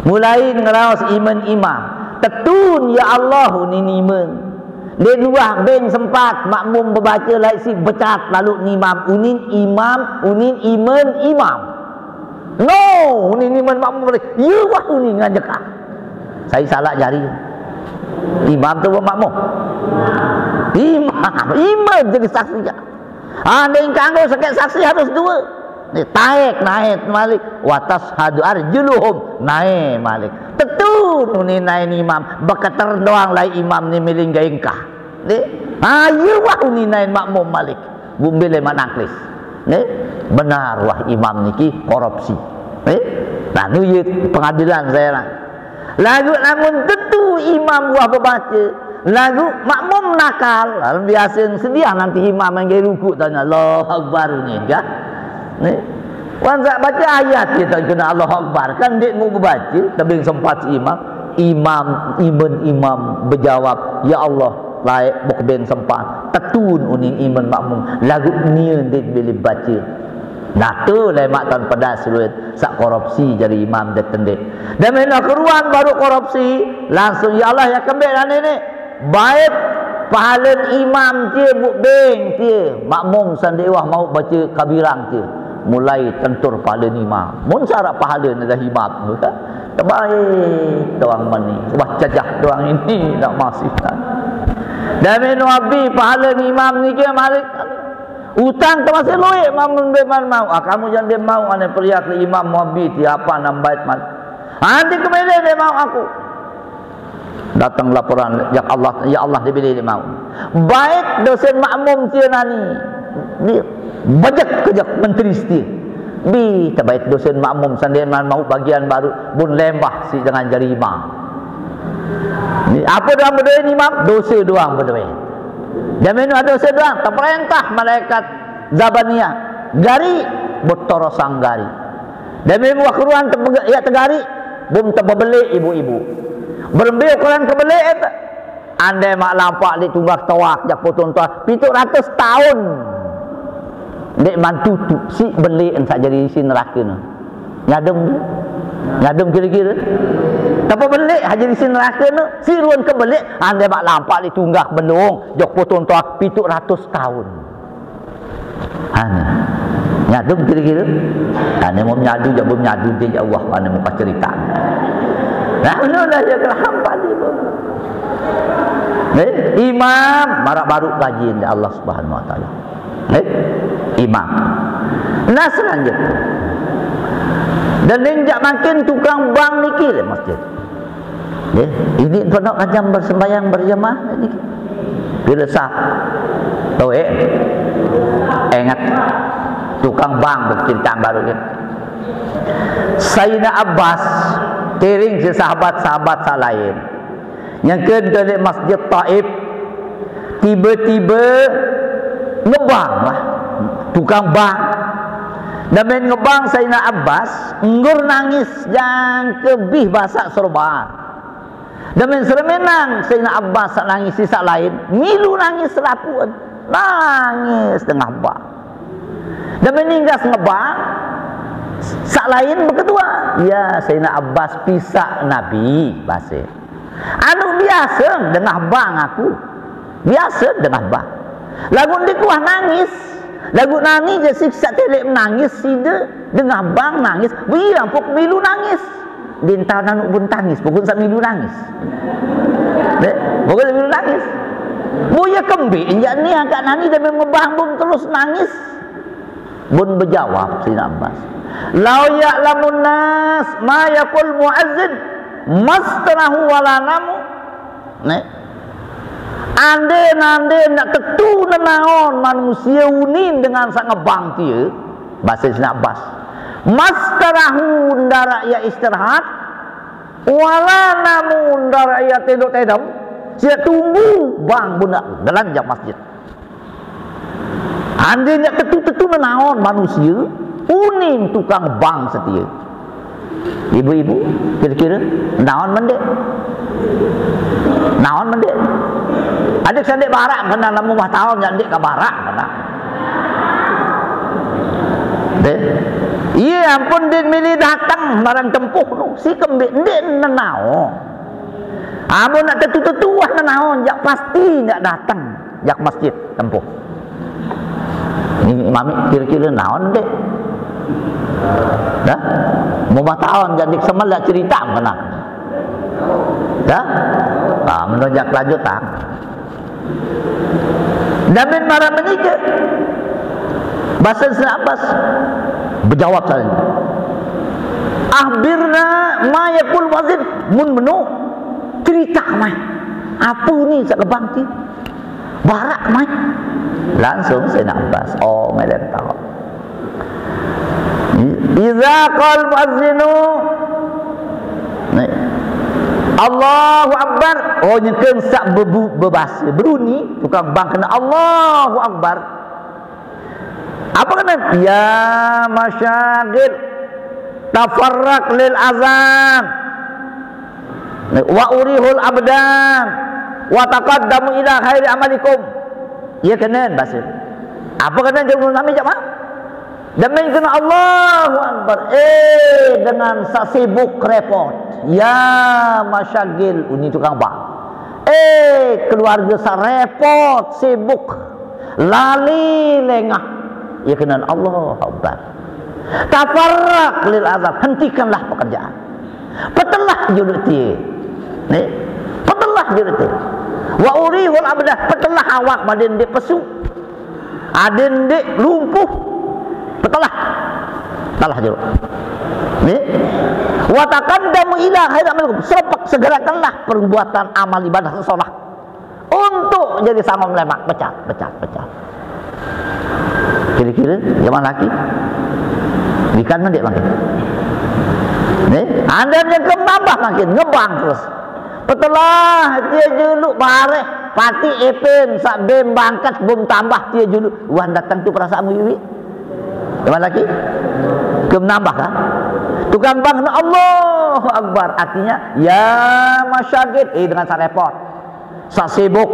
Mulai ngeraos iman imam. Tetun ya Allah unin iman. Dia luah beng sempat makmum berbaca lai si becat lalu ni imam unin imam unin iman imam. No, unin iman makmum boleh. Ya wah unin nganjaka. Saya salah jari. Imam tu makmum. Imam, imam jadi saksi. Ha, dia ingkang tu sakit saksi harus dua. Ni taek naik malik. Watas hadu arjuluhum naik malik. Tetu nuni naik ni imam. Beketer doang lai imam ni miling gaingkah. Ni, ha, iya wah nuni naik makmum malik. Gumbil lima nangklis. Ni, benar wah imam niki korupsi. Ni, nah, ni ye pengadilan saya lah. Lagu lamun tetu imam buah bebaca, lagu makmum nakal, lalu biasa sedia nanti imam yang gaya ruku tanya Allahu Akbar ni kan. Ni. Wan sak baca ayat kita kena Allahu Akbar kan dia mau berbaca, tapi sempat si imam, imam iman imam berjawab, ya Allah, laik bukbin sempat tetun unin iman makmum lagu ni dia boleh baca. Nah tu lemak tan pedas luit sak korupsi jadi imam dia tendek. Dan mena keruan baru korupsi, langsung ya Allah ya kembek dan ini. Baik pahalan imam tia buk beng tia makmum sandi wah mau baca kabirang tia. Mulai tentur pahalan imam. Mun syarat pahalan adalah imam tu kan. Terbaik doang mani. Wah cajah doang ini nak masih kan. Dan menu abi pahalan imam ni ke malik. Utang tu masih luik mamun be man mau. Ah, kamu jangan dia mau ane periak le imam muabi ti apa nambait man. Andi kemele dia mau aku. Datang laporan ya Allah, ya Allah dia bila dia mau. Baik dosen makmum tia nani. Dia bejek kejek menteri setia. Bi terbaik dosen makmum sandi man mau bagian baru bun lembah si dengan jari imam. Ni, apa doang berdua ni imam? Dosa doang berdua. Jamin ada dosa doang. Terperintah malaikat Zabaniah gari bertorosang gari. Demi buah keruan tepega- ya tegari bum tebebelik ibu-ibu. Berembil ukuran kebelik itu. Andai mak lampak di tunggak tawak jak potong tuah pitu ratus tahun. Dek mantutu si belik ensak jadi isi neraka ni. Nyadem tu. Nyadem kira-kira. Tapi belik aja di sini neraka tu. Si ruan ke belik andai mak lampak di tunggak bendung jak potong tuah pitu ratus tahun. Ha ni. Nyadem kira-kira. Ha ni mau menyadu jak mau menyadu dia jak Allah mana muka cerita. Nah, anu dah ya kelahan tadi tu. Eh, imam, marak baru kaji Allah Subhanahu Wa Taala. Eh, imam. Nah, selanjutnya. Dan ninjak makin tukang bang niki le masjid. Eh, ini pondok kajam bersembahyang berjamaah ini. Bila sah. Tahu eh? Ingat. Tukang bang bercerita baru ni. Sayyidina Abbas, tiring si sahabat-sahabat selain. Nyangka dalik Masjid Taif, tiba-tiba ngebang lah. Tukang bang. Dan main ngebang Sayyidina Abbas, enggur nangis jangka bih basak serban. Dan main seremenang Sayyidina Abbas sak nangis si sak lain, milu nangis selapuan. Nangis tengah bang. Dan main ninggas ngebang, sak lain beketua. Ya, Sayyidina Abbas pisak Nabi, basik. Anu biasa dengah bang aku. Biasa dengah bang. Lagu ndi kuah nangis. Lagu nani je siksa telek menangis sida dengah bang nangis. Beri ampuk milu nangis. Dinta nanuk pun tangis, pokok sak milu nangis. Dek, pokok sak milu nangis. Boya kembik injak ni angkat nani dan ngebang bun terus nangis. Bun bejawab Sayyidina Abbas, "Lau ya'lamun nas ma yaqul muazzin, mastarahu wala namu." Nek. Ande nande nak tetu nenaon manusia unin dengan sak ngebang tia, bahasa Sayyidina Abbas. Mastarahu ndak ya istirahat, wala namu ndak ya tedok tedam, sia tunggu bang bunda dalam jam masjid. Ande nyak tetu-tetu nenaon manusia, unin tukang bang setia. Ibu-ibu, kira-kira naon mendek? Naon mendek? Adik sendek barak kena lama rumah tahun nyak ndik ke barak kena. Deh. Iya ampun din milih datang marang tempuh tu. Si kembik ndik nenaon. Amun nak tetu-tetu wah nenaon, jak pasti nyak datang jak masjid tempuh. Ni mami kira-kira naon dek? Dah? Mau taon jadi semal dah cerita kena. Dah? Ah, menunjak lanjut tak? Damin marah menikah. Bahasa Sayyidina Abbas berjawab saja. Akhbirna ma yaqul muazzin, mun menu cerita mai. Apa ni sak kebang ti? Barak mai. Langsung Sayyidina Abbas, oh, ngelem tahu. Iza qal muazzinu, Allahu Akbar. Oh, nyekeun sak bebu bebas. Beruni tukang bang kena Allahu Akbar. Apa kena? Ya masyagil, tafarraq lil azan. Wa urihul abdan wa taqaddamu ila khairi amalikum. Ya kena bahasa. Apa kena jawab Nabi jawab? Demi kena Allahu Akbar. Eh, dengan sak sibuk repot. Ya masyagil, uni tukang bang. Eh, keluarga sak repot, sibuk. Lali lengah. Ya kena Allahu Akbar. Tafarraq lil azab, hentikanlah pekerjaan. Petelah juluk tie. Ni. Petelah juluk tie. Wa urihul abdah, petelah awak badan dia pesu. Adin dik lumpuh. Petelah. Telah je. Ni. Wa taqaddamu ila khairi amalikum. Serepak segerakanlah perbuatan amal ibadah solah. Untuk jadi sangom lemak. Pecat, pecat, pecat. Kira-kira zaman laki. Ikan mendik makin. Ni, anda yang kembambah makin ngebang terus. Petelah dia juluk bareh pati epin sak bim bangkat bum tambah dia juluk. Wan datang tu perasaan wiwi. Zaman laki. Kem nambah kan? Tukang bang Allahu Akbar, artinya ya masyagit, eh, dengan sak repot. Sak sibuk,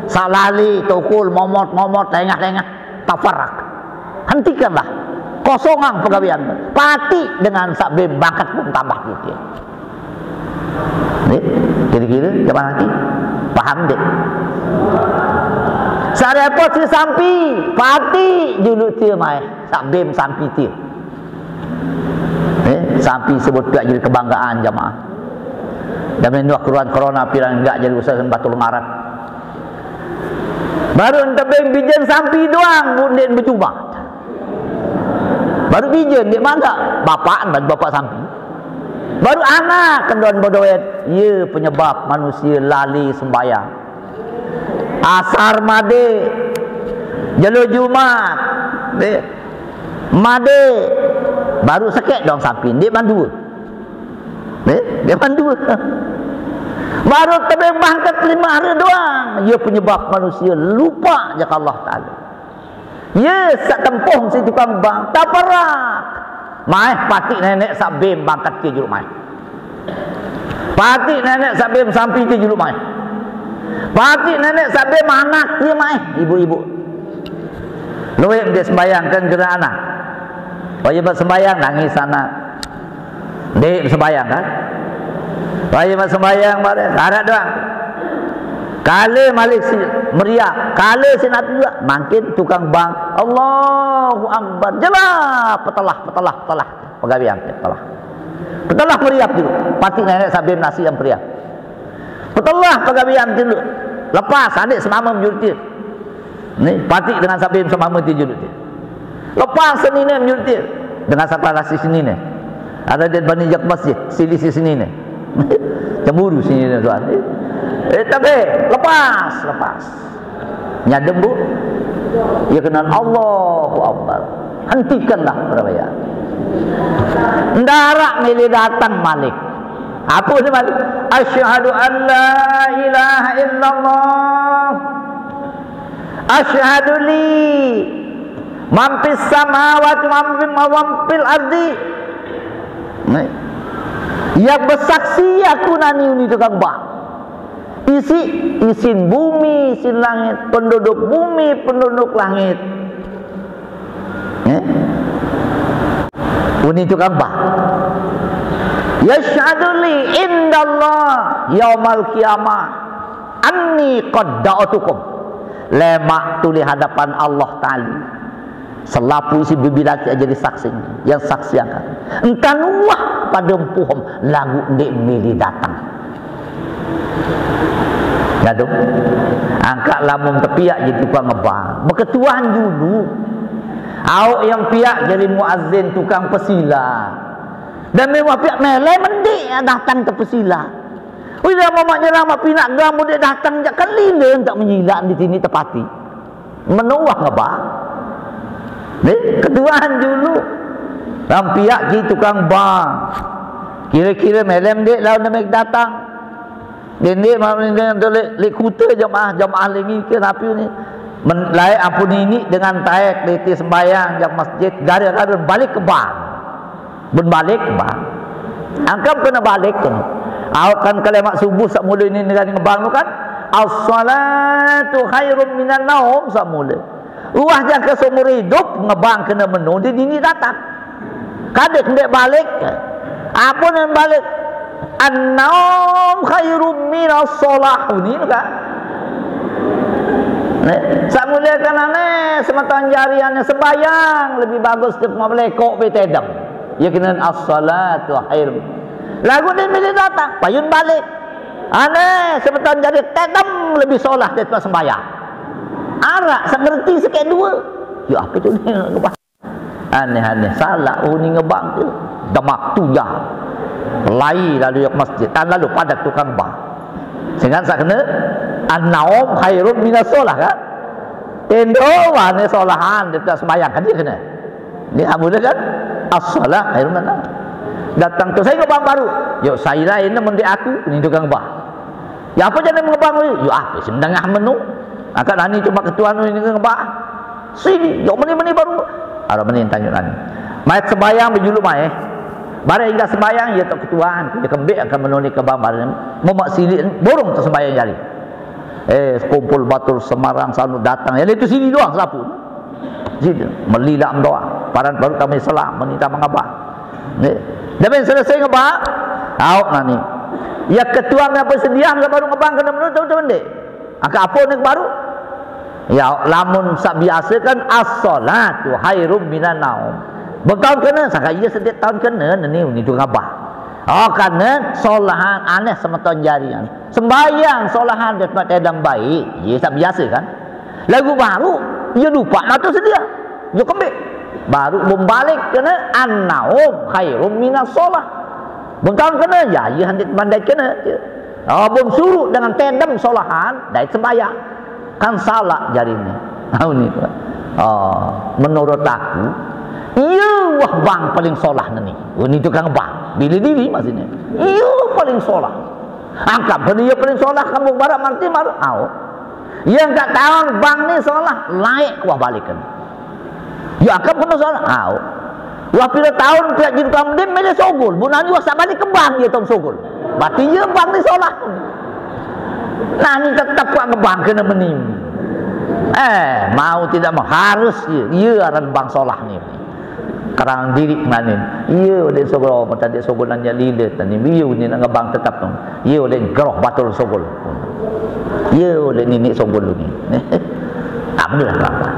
sak lali, tukul, momot-momot, lengah-lengah, tafarak. Hentikanlah. Kosongang pegawean. Pati dengan sak bim bangkat pun tambah kikir. Ni, kira-kira zaman laki. Paham dik? Sak repot si sampi, pati juluk tie mai. Sak bim sampi tie. Eh, sampi sebut tak jadi kebanggaan jamaah. Dah main dua keruan corona pirang enggak jadi usaha Batul Ngarat. Baru entebeng bijen sampi doang, Bu, ndeq bejumat. Baru bijen, ndeq mangga. Bapak, bapak sampi. Baru anak kendon bedoet. Ye penyebab manusia lali sembahyang. Asar made, jelo Jumat, deh. Made, baru sekek doang sampi, ndeq mandue. Deh, ndeq mandue. Baru tebeng bangket lime hari doang, ye penyebab manusia lupa jaka Allah Taala. Ye saq tempoh siq tukang bang, taperak. Maeh patik neneq saq bem bangket ke juluq maeh. Patik neneq saq bem sampi ke juluq maeh. Patik neneq saq bem anak ke maeh, ibu-ibu. Lueq ndeq sembahyang kan gere anak. Wah, ye maq sembahyang nangis anak. Ndeq sembahyang kan? Wah, ye maq sembahyang bareh, araq doang. Kale malik si meriah, kale si napi juga, mangkin tukang bang, Allahu Akbar. Jelah, petelah, petelah, petelah. Pegawean, petelah. Petelah meriah juluq. Patik neneq saq bem nasi yang meriah. Petelah pegawean juluq. Lepas, adeq semame juluq tie. Ni, patik dengan saq bem semame tie juluq tie. Lepas senine juluq tie. Dengan saq talasi senine. Araq ndeq bani jok masjid, sili si senine. Cemburu senine soal. Eh, tapi lepas, lepas. Nyadem, Bu. Ye kenan Allahu Akbar. Hentikanlah perwayaan. Ndaraq mele dateng malik. Ape ni malik? Asyhadu an la ilaha illallah. Asyhadu li man fis samawati wa man fil ardi. Nah. Yang bersaksi aku nani uni tukang bang. Isi, isin bumi, isin langit, penduduk bumi, penduduk langit. Eh? Uni tukang bang. Yashhadu li indallah yaumal qiyamah anni qad da'utukum. Lemaq tuli hadapan Allah Taala. Selapuq isi bibit ati jadi saksi, yang saksiakan. Entan wah pade empuh laguq ndeq mele dateng. Ngadep. Angkaq lamun tepiaq jari tukang ngebang. Beketuan julu. Aoq yang piaq jari muazzin tukang pesilaq. Dan memang piaq mele mendiq dateng te pesilaq. Wih, dah mamaq nyerang maq pinaq gam udah dateng jaq kan lile entak menyilaq di sini tepati. Menoah ngebang. Ni, ketuan julu. Lam piaq ki tukang bang. Kire-kire mele mendiq laun deme dateng. Dendeq mame dengan leq, leq kute jemaah, jemaah lengi ke napi ni. Men, laeq ampun ini dengan taek lete sembahyang jak masjid, gara-gara balik ke bang. Ben balik ke bang. Angkam kene balik kene. Aoq kan kelemaq subuh saq mule ni negani ngebang tu kan. As-salatu khairum minan naum saq mule. Uwah jangke seumur idup ngebang kene meno di dini datang. Kadek ndeq balik. Ape nen balik? An-naum khairum minas shalah. Uni kan? Nek, saq mulie kan ane semeton jari ane sembayang lebih bagus daripada melekok be tedem. Ye kenen as-salatu khairum. Laguq ni mele datang, payun balik. Ane semeton jari tedem lebih solah daripada sembayang. Araq saq ngerti sekek due. Ya ape tu ni? Aneh-aneh, salaq uni ngebang tu. Demak tuyang. Lai lalu jak masjid, tan lalu padat tukang bang. Sengaq saq kene, an-naum khairum minas shalah kan? Tendo wane solahan daripada sembahyang kan dia kene. Ni amun kan? As-shalah khairum minan naum. Datang tu saya ngebang baru. Yuk, saya lain mendik aku, ni tukang bang. Ya ape jane ngebang? Yuk, ape sing dengah meno? Angkat nani cuma ketuan ni ngebang. Sini, jok meni-meni baru. Araq meni tanyuk nani. Mai sembahyang bejulu mai. Bareng inggah sembahyang, ye tok ketuan. Ye kembik akan menuni kebang bareng. Memak silik, borong tu sembahyang jari. Eh, sekumpul batur Semarang sanu datang. Yang itu sini doang selapuq. Sini, melilak doang. Paran baru kami selam, menita mengabang. Nggih. Dah ben selesai ngebang, aoq nani. Ya ketuan ape sediah nggak baru ngebang kena menurut tahu tu ndeq? Angkat ape ni baru? Ya, lamun saq biase kan as-shalatu khairum minan naum. Bekaun kene, sangka ie setiap taun kene, neni uni tu ngabah. Oh, kerana solahan aneh semeton jarian. Sembahyang solahan di tempat tedam baik, ye tak biasa kan? Lagu baru, ye lupa mata sedia. Ye kembik. Baru bom balik kena an-naum khairum minas solah. Bom taun kena, ya, ye handik mandai kena. Oh, bom surut dengan tedam solahan, dai sembahyang. Kan salah jari ni. Tahu ni, tuan. Oh, menurut aku, iya wah bang paling solah ni. Oh, ni tukang bang. Bila diri maksudnya. Iya paling solah. Angkat pada iya paling solah kampung barat marti malu. Au. Yang tak tahu bang ni solah, laik wah balikan. Ya, angkat kena solah. Au. Wah pira taun pihak jin kamu dia milih sogol. Bunani wah sabalik ke bang dia taun sogol. Berarti iya bang ni solah. Nah, ni tetap kuat ngebang kena menim. Eh, mau tidak mau harus ya. Iya aran bang solah ni. Kerang diri manin. Iya dek sogol, mata dek sogol nanya lila tadi. Iya ni nak ngebang tetap tu. Iya dek geroh batul sogol. Iya dek nini sogol ni. Abdullah bapa.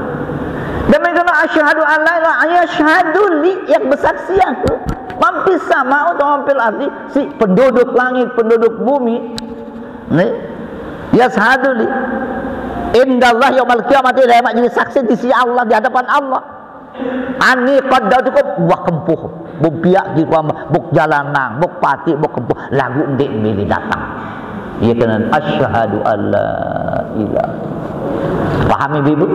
Demikian asyhadu an la ilaha, asyhadu li, yang bersaksi aku. Mampir sama atau mampir arti si penduduk langit, penduduk bumi. Ni, yashhadu li indallah yaumal qiyamah, dia mak jadi saksi di sisi Allah, di hadapan Allah. Ani qaddatukum, wah kempuh. Buk piak di ruang, buk jalan nang, buk patik, buk kempuh. Lagu ndik milih datang. Ia kena asyhadu alla ilah. Pahami bibu?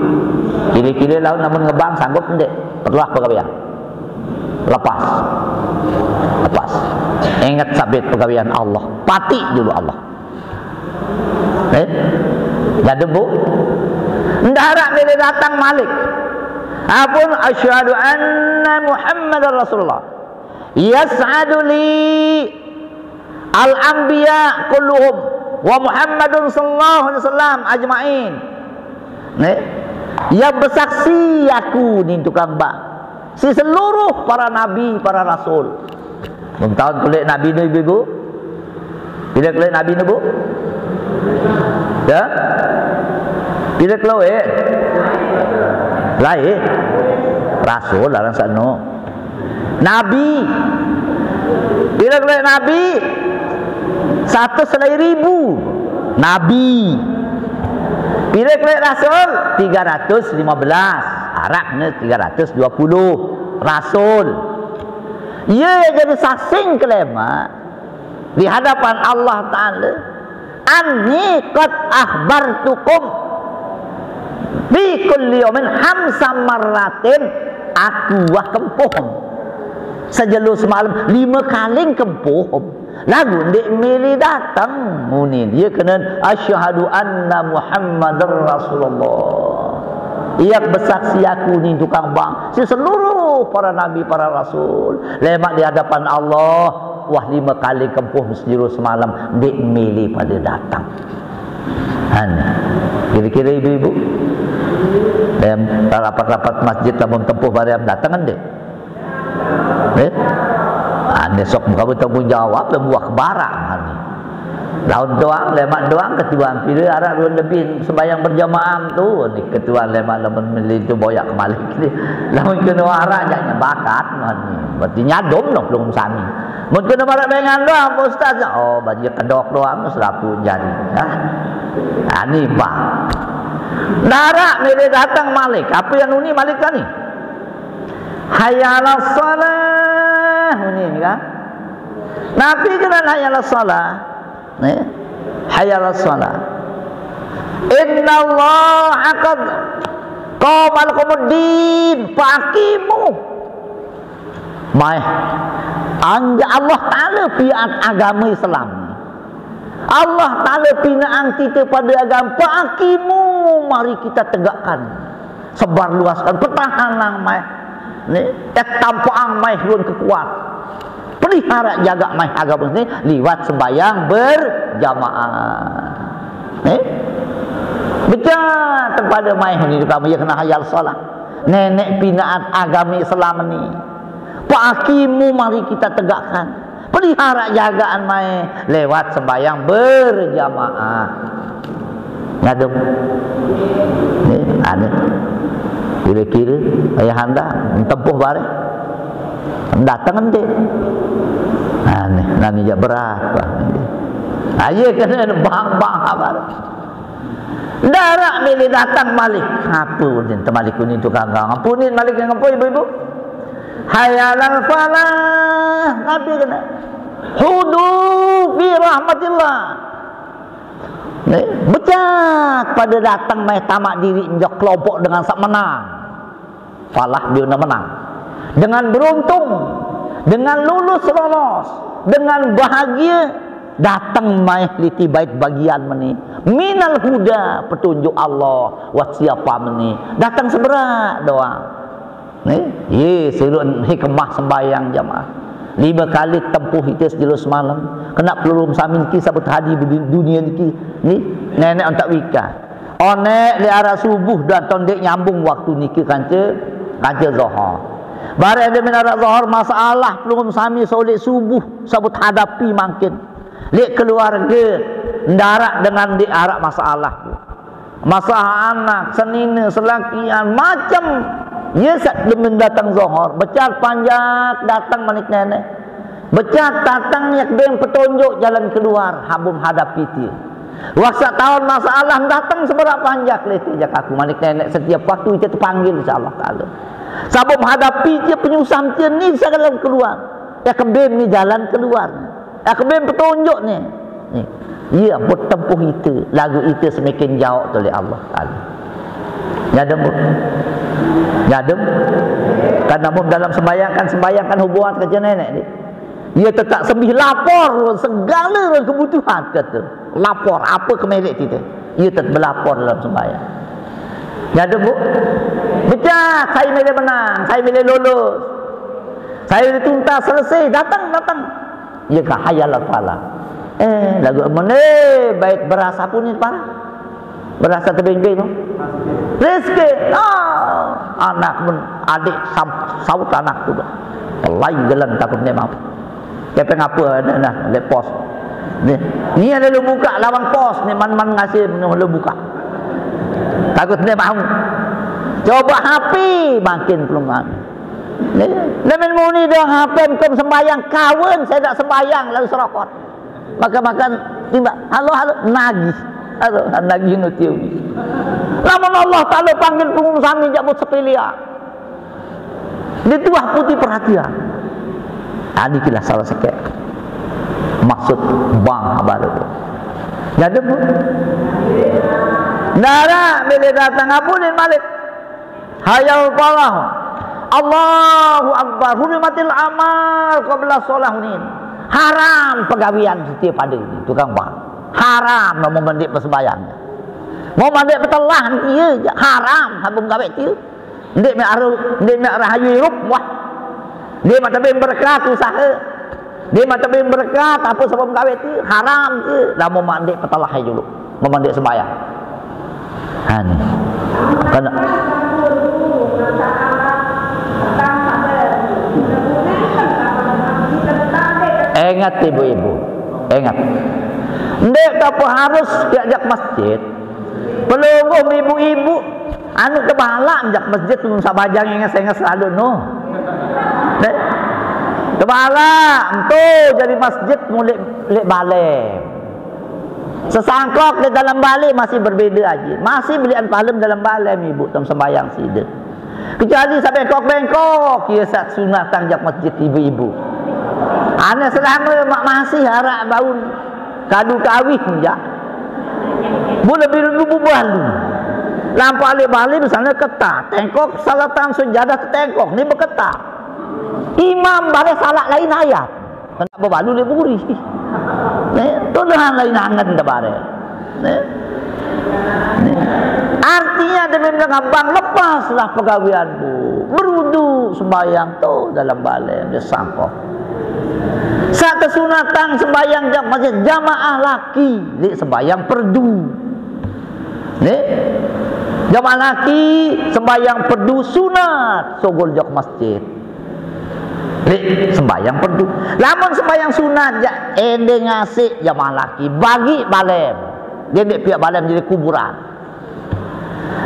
Kira-kira lawan namun ngebang sanggup ndik? Perlu apa kau bilang? Lepas. Lepas. Ingat sabit pegawaian Allah. Pati dulu Allah. Eh? Jadi bu, ndak harap bila datang malik. Apun asyhadu anna Muhammadar Rasulullah. Yashhadu li al-anbiya kulluhum wa Muhammadun sallallahu alaihi wasallam ajma'in. Ni, yang bersaksi aku ni tukang bang. Si seluruh para nabi, para rasul. Bung tahun kulit nabi ni ibu-ibu. Bila kulit nabi ni bu? Ya? Bila kulit? Lain. Rasul dalam sana. Nabi. Bila kulit nabi? Satu selai ribu. Nabi. Bila kulit rasul? Tiga ratus lima belas. Arab ni tiga ratus dua puluh. Rasul. Ia jadi sasing kelema di hadapan Allah Ta'ala. Anni qad akhbartukum fi kulli yaumin hamsa marratin, aku wah kempuh. Sejelo semalam lima kali kempuh. Lagu ndik milih datang muni dia kena asyhadu anna Muhammadar Rasulullah. Ia bersaksi aku ni tukang bang. Si seluruh para nabi, para rasul. Lemak di hadapan Allah. Wah lima kali kempuh sejelo semalam. Ndik milih pada datang. Kan? Kira-kira ibu-ibu. Dalam rapat-rapat masjid lamun tempuh bariam datang kan dek? Eh? Ah, ni sok muka bertanggung jawab dan buah kebarang ni. Laun doang, lemak doang ketuan pira arak dua lebih sembahyang berjamaah tu ni ketuan lemak lamun meli tu boyak kembali ni. Lamun kena arak jangan bakat ni. Berarti nyadom noh belum sami. Mun kena marak dengan doang Pak Ustaz. Oh, baju kedok doang selapu jari. Ha? Ha, ni bah. Darak ni dia datang malik. Apa yang uni malik tadi? Hayya 'alas shalah. Uni ni kan? Nabi kena hayya 'alas shalah. Ni. Hayya 'alas shalah. Innallaha qad qama lakumud din faqimu. Mai. Anja Allah Ta'ala pian agama Islam. Allah Ta'ala pinaan kita pada agama. Faqimu, mari kita tegakkan. Sebar luaskan, pertahankan mai. Ni, tampang mai lun kekuat. Pelihara jaga mai agama ni liwat sembahyang berjamaah. Ni? Betul tempat mai ni juga ya kena hayal salat. Nenek pinaan agama Islam ni. Faqimu mari kita tegakkan. Pelihara jagaan mai lewat sembahyang berjamaah. Ngadem. Ni, ane. Kira-kira ayahanda tempuh bareh. Datang ente. Aneh, nami jak berat bah. Aye kena bang-bang abar. Darak milih datang malik. Apa ni temalik ni tu kangkang? Apa ni malik yang apa ibu-ibu? Hayalal falah. Apa kena? Hudu fi rahmatillah. Ni, becak pada datang mai tamak diri njok kelompok dengan sak menang. Falah dia nak menang. Dengan beruntung, dengan lulus lolos, dengan bahagia, datang mai liti bait bagian meni. Minal huda, petunjuk Allah, wat siapa meni. Datang seberak doang. Ni, ye, serun hikmah sembahyang jamaah. Lima kali tempuh ite sejelo semalam. Kena pelulung sami niki sabut hadi bedi-, dunia niki. Ni, nenek ontak wika. Onek le arah subuh dan tondek nyambung waktu niki kanca, kanca Zohor. Bareh de min arah Zohor masalah pelungguh sami solik subuh sabut hadapi mangkin. Lek keluarga ndarak dengan dik arak masalah. Masalah anak, senina, selakian, macam. Ye sat demen datang Zohor, becat panjak datang manik nenek. Becat datang yak beng petunjuk jalan keluar habum hadapi tie. Waktu tahun masalah datang seberak panjak leti jak aku manik nenek setiap waktu ite terpanggil insya Allah Taala. Sabab hadapi tie penyusah tie ni segala keluar. Ya kebem ni jalan keluar. Ya kebem petunjuk ni. Ni. Iya, buat tempuh ite, lagu ite semakin jauh tu oleh Allah Taala. Nyadem, Bu? Nyadem? Kan namun dalam sembahyang kan, sembahyang kan hubungan kerja nenek ni. Ia tetap sembih lapor segala kebutuhan kata. Lapor apa ke merek kita. Ia tetap berlapor dalam sembahyang. Nyadem, Bu? Becak, saya milih menang, saya milih lulus. Saya milih tuntas, selesai, datang, datang. Ia ke hayal al-falah. Eh, lagu mana baik berasa pun ni parah. Berasa tebing-bing tu. Rezeki. Ah, anak pun adik sam-, saut anak tu. Lain jalan takut ni mau. Kepeng apa ada dah, lek pos. Ni, ni ada lu buka lawang pos ni, man-man ngasih menu lu buka. Takut ni mau. Coba H P makin pelungan. Ni, lemen muni dong H P kem sembahyang kawan, saya tak sembahyang lalu serokot. Makan-makan tiba, halo, halo, nagih. Halo, nagih nutiu. Lamun Allah Taala panggil pelungguh sami jabut sepiliak. Di tuah putih perhatian. Tadi kilah salah sekek. Maksud bang baru. Jadi, Bu? Nara bila datang abunin malik. Hayal falah. Allahu Akbar. Hurimatil amal qabla sholahin. Haram pegawean setiap pada tukang bang. Haram mau mendik persembahyang. Mau mendik petelah dia je. Haram habung gawe dia. Ndik mek aru, ndik mek rahayu irup wah. Dia mata bin berkat usaha. Dia mata bin berkat apa sebab gawe tu haram tu. Lama mandik petalah aja dulu. Memandik sembahyang. Ha ni. Kena. Ingat ibu-ibu. Ingat. Ndik tak apa harus diajak masjid. Pelungguh ibu-ibu anu tebalak jak masjid tu sabajang inges-inges lalu no. Dek. Tebalak entu jadi masjid mulik lek balai. Sesangkok di dalam balai masih berbeda aja. Masih belian palem dalam balai ibu tam sembayang sida. Kecuali sampai bengkok-bengkok, ia sat sunat tang jak masjid ibu-ibu. Ane selama mak masih arak baun. Kadu kawin ja. Bu lebih dulu bu balu. Lampak alih balik misalnya ketah. Tengkok salatan sejadah ke tengkok. Ni berketah. Imam bare salah lain ayat. Kena bebalu dia buri. Ni, tu dah lain angan dah bare. Ni. Ni. Artinya dia memang abang lepaslah pegawaian bu. Berudu sembahyang tu dalam balai dia sangkok. Satu sunatan sembahyang jam masjid jamaah laki, lik sembahyang perdu. Lik jamaah laki sembahyang perdu sunat sogol jok masjid. Lik sembahyang perdu. Lamun sembahyang sunat jak ende ngasih jamaah laki bagi balem. Dia ndik pihak balem jadi kuburan.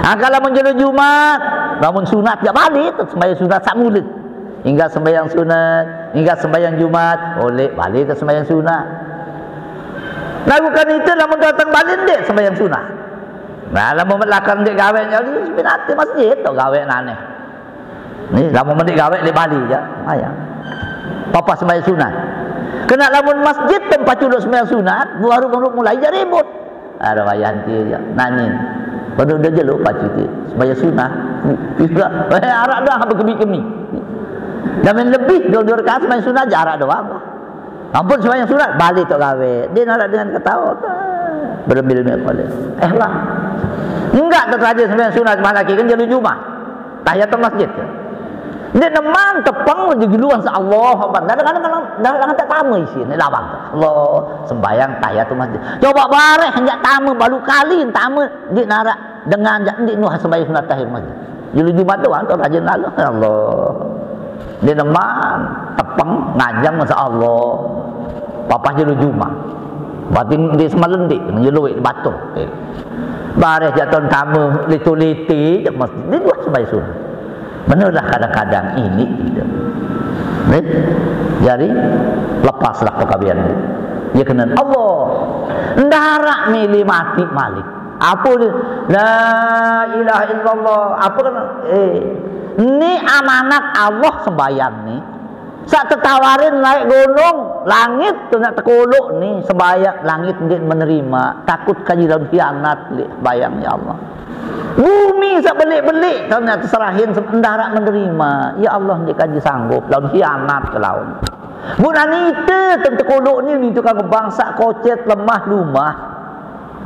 Ha, kalau menjadi Jumat, lamun sunat jak balik sembahyang sunat sak mulut. Hingga sembahyang sunat, hingga sembahyang Jumat, oleh balik ke sembahyang sunat. Lagu kan itu lamun datang balik ndik sembahyang sunat. Nah, lamun lakar ndik gawe jadi pinati masjid tu gawe nane. Ni lamun ndik gawe di Bali ya. Maya. Papa sembahyang sunat. Kena lamun masjid tempat culuk sembahyang sunat, baru mulai jadi ribut. Ada wayah nanti aja. Nangin. Pada udah jelo pacu ti. Sembahyang sunat. Bisa. Eh, arak dah berkemi-kemi. Dan main lebih dua, dua rakaat sembahyang sunat aja arak doang. Ampun sembahyang sunat, balik tak gawe. Dia nak dengan ketawa. Berembil-embil kepala. Eh lah. Enggak terjadi sembahyang sunat malam lagi kan jelo Jumat. Tahiyatul masjid. Dia neman tepeng di guluan sa Allah Akbar. Kadang-kadang kadang kadang tak tama isi ni lawang. Allah sembahyang tahiyatul masjid. Coba bareh enggak tama balu kali tama di narak dengan jak ndik nuh sembahyang sunat tahiyatul masjid. Jelo Jumat tu orang tu rajin lalu. Allah. Dia neman tepeng ngajang masa Allah. Papa jelo Jumat. Berarti di semalam dik jelo di batu. Bareh jatuh tama litu-liti jak masjid. Di luar sembahyang sunat. Benalah kadang-kadang ini kita. Ni? Jadi lepaslah perkahwinan ni. Dia kena Allah. Ndarak milih mati malik. Apa dia? La ilaha illallah. Apa kena? Eh, ni amanat Allah sembahyang ni. Sak tetawarin naik gunung, langit tu nak tekolok ni sembahyang langit dia menerima. Takut kaji dalam hianat dia bayang ya Allah. Bumi sebelik-belik, tahu nak terserahin, se-, ndarak menerima. Ya Allah, dia kaji sanggup, lawan hianat ke lawan. Bukan itu, tentu kolok ni, ni tukang bangsa kocet, lemah, lumah.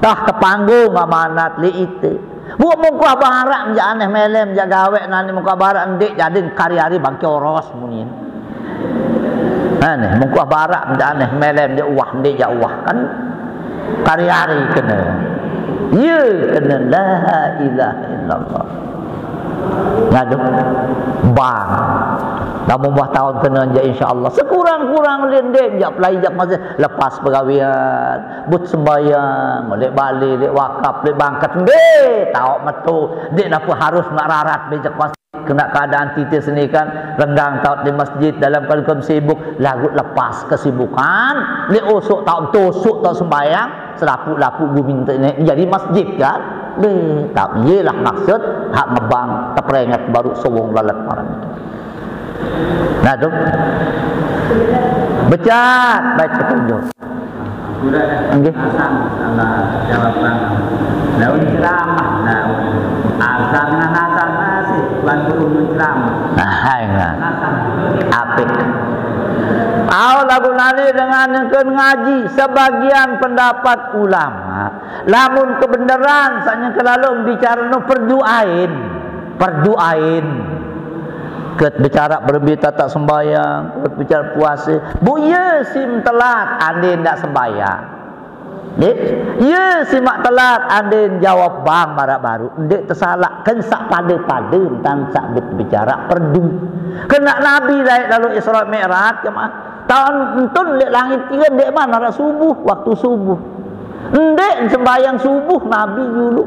Tah tepanggung amanat li itu. Buat mungkuh barak, menjak aneh melem, menjak gawek, nani mungkuh barak, ndik, jadi kari-ari bangki oros, munyin. Aneh, mungkuh barak, menjak aneh melem, dia uah, ndik, jak uah. Kan kari-ari kena. Ya, kena la ilaha illallah. Ngadu. Bang. Dah membuah tahun kena je insya Allah. Sekurang-kurang linding je pelai jak masih lepas pergawian. But sembayang, lek bali, lek wakaf, lek bangkat. Dek, tahu metu. Dek napa harus nak rarat bejak masih. Kena keadaan titis ni kan, renggang taut di masjid dalam keadaan sibuk, lagu lepas kesibukan, ni usuk taut tusuk taut sembayang, selapu-lapu gumi ni jadi masjid kan. Deh, tak iyalah maksud hak ngebang teperingat baru sewong lalat malam itu. Nah tu. Becat baik petunjuk. Nggih. Asam sama jawaban. Daun ceramah, daun. Asam dengan asam masih, Tuan Guru menceramah. Nah, hai, nah. Asam. Apik. Au lagu nani dengan yang ke ngaji sebagian pendapat ulama. Lamun kebenaran sanya kelalu bicara no perdu ain. Perdu ain. Ket bicara berembi tata sembayang, ket bicara puasa. Bu iya sim telat, ande ndak sembayang. Nggih? Iya simak telat, ande jawab bang marak baru. Ndik tersalah, kan sak pada-pada entan sak bet bicara perdu. Kena Nabi laik lalu Isra Mi'raj jemaah. Tahun entun lek langit tiga ndik mana arah subuh, waktu subuh. Ndik sembayang subuh Nabi dulu.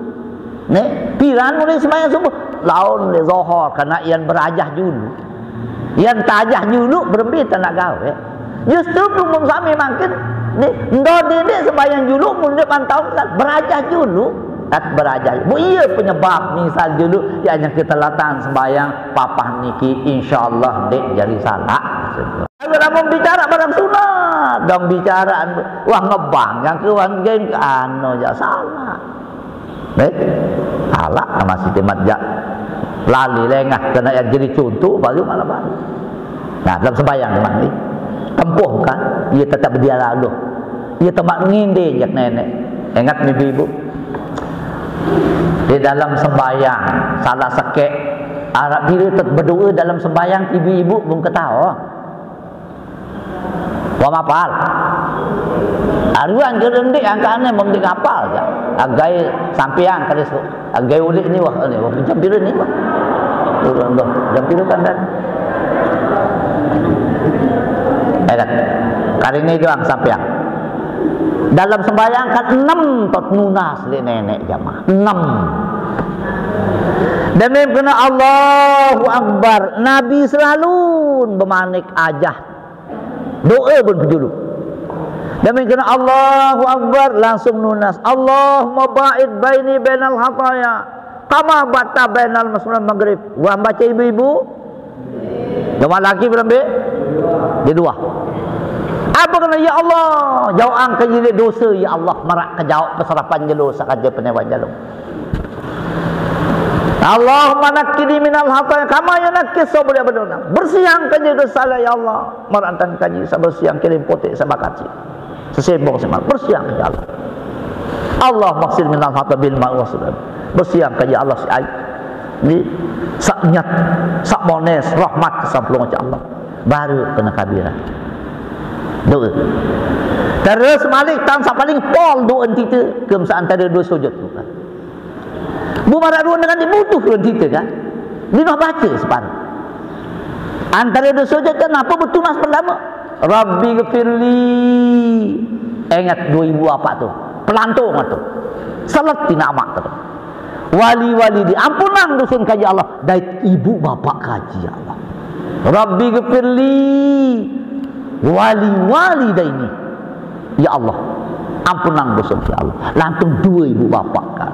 Nek, piran mulai sembahyang subuh? Laun le Zohor, karena ian berajah dulu. Ian tajah dulu, berembi tak nak gawe. Justru pelumum sami makin, ni, ndo dede sembahyang dulu, mundur pantau, berajah dulu. Tak berajah. Bu iya penyebab, misal dulu, ya hanya kita latan sembahyang, papah niki, insya Allah, dek jadi salah. Kalau mau bicara barang sunat, dong bicara, wah ngebang, yang kewan gen, anu, ya salah. Baik. Alak sama si Timat jak lali lengah kena yang jadi contoh baru malam hari. Nah, dalam sembahyang memang ni. Tempuh kan? Ia tetap dia lalu. Ia tempat nginde jak nenek. Ingat ibu-ibu. Di dalam sembahyang salah sekek Arab diri tetap berdoa dalam sembahyang ibu-ibu belum ketawa. Wa mapal. Aruan ke rendik angkane mesti ngapal ja. Agai sampeang kali su. Agai ulik ni wah ni wah jam pira ni wah. Turun dah. Jam pira kan dan. Eh kan. Kali ni doang sampeang. Dalam sembahyang kan enam tot nunas le nenek jamaah. Enam. Demi kena Allahu Akbar, Nabi selalu bemanik ajah. Doa pun pejulu. Demi kena Allahu Akbar, langsung nunas. Allahumma ba'id baini bainal khataya. Kama bata bainal masyriq maghrib. Wah, baca ibu-ibu. Jemaah laki berambik? Dia dua. Apa kena, ya Allah, jauhkan jilid dosa, ya Allah, marak ke jauh peserapan jelo, sakaja penewan jelo. Allahumma naqqini minal khataya kama yunaqqa thawbul abyadu. Bersihkan jilid dosa, ya Allah, marak tan kaji sabersih kilim putih sabakati. Sesembong semal, bersihkan, ya Allah. Allah maksil minal hata bil ma'i wa salam. Bersihkan, ya Allah, si aib. Ni, sak nyat, sak mones, rahmat kesamplung, ya Allah. Baru kena kabiran. Doa. Terus malik tan sak paling pol doa entita, ke masa antara dua sujud tu kan. Bu marak dua dengan dibutuh dua entita kan. Dia nak baca separuh. Antara dua sujud kan apa betunas pertama? Rabbi gfirli. Ingat dua ibu apa tu? Pelantung tu. Salat tina amak tu. Wali wali di ampunang dusun kaji Allah. Dait ibu bapak kaji Allah. Rabbi gfirli. Wali wali daini. Ya Allah. Ampunang dusun ya Allah. Lantung dua ibu bapak kan.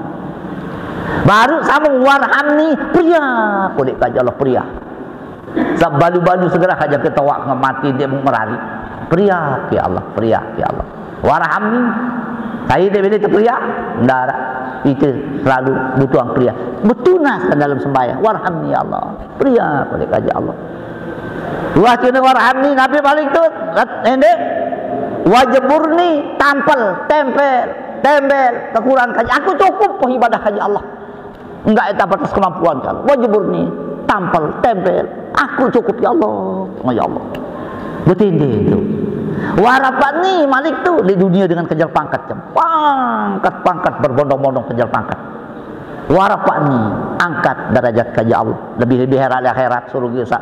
Baru sama warhamni pria. Kulit kaji Allah pria. Sabalu-balu segera aja ketawa dengan mati dia merari. Pria ya Allah, pria ya Allah. Warhamni. Saya dia bila terperiak, ndak ada. Itu selalu butuh pria. Betunas dalam sembahyang. Warhamni ya Allah. Pria pada kaji Allah. Wah kena warhamni Nabi balik tu. Endek. Wajburni tampal, tempel, tempel, kekurangan kaji. Aku cukup po ibadah kaji Allah. Enggak eta batas kemampuan kan. Wajib ni tampal, tempel. Aku cukup ya Allah. Oh, ya Allah. Betindih tu. Warapani malik tu di dunia dengan kejar pangkat kan. Pangkat-pangkat berbondong-bondong kejar pangkat. Warapani angkat derajat kaji Allah. Lebih-lebih herat akhirat suruh sa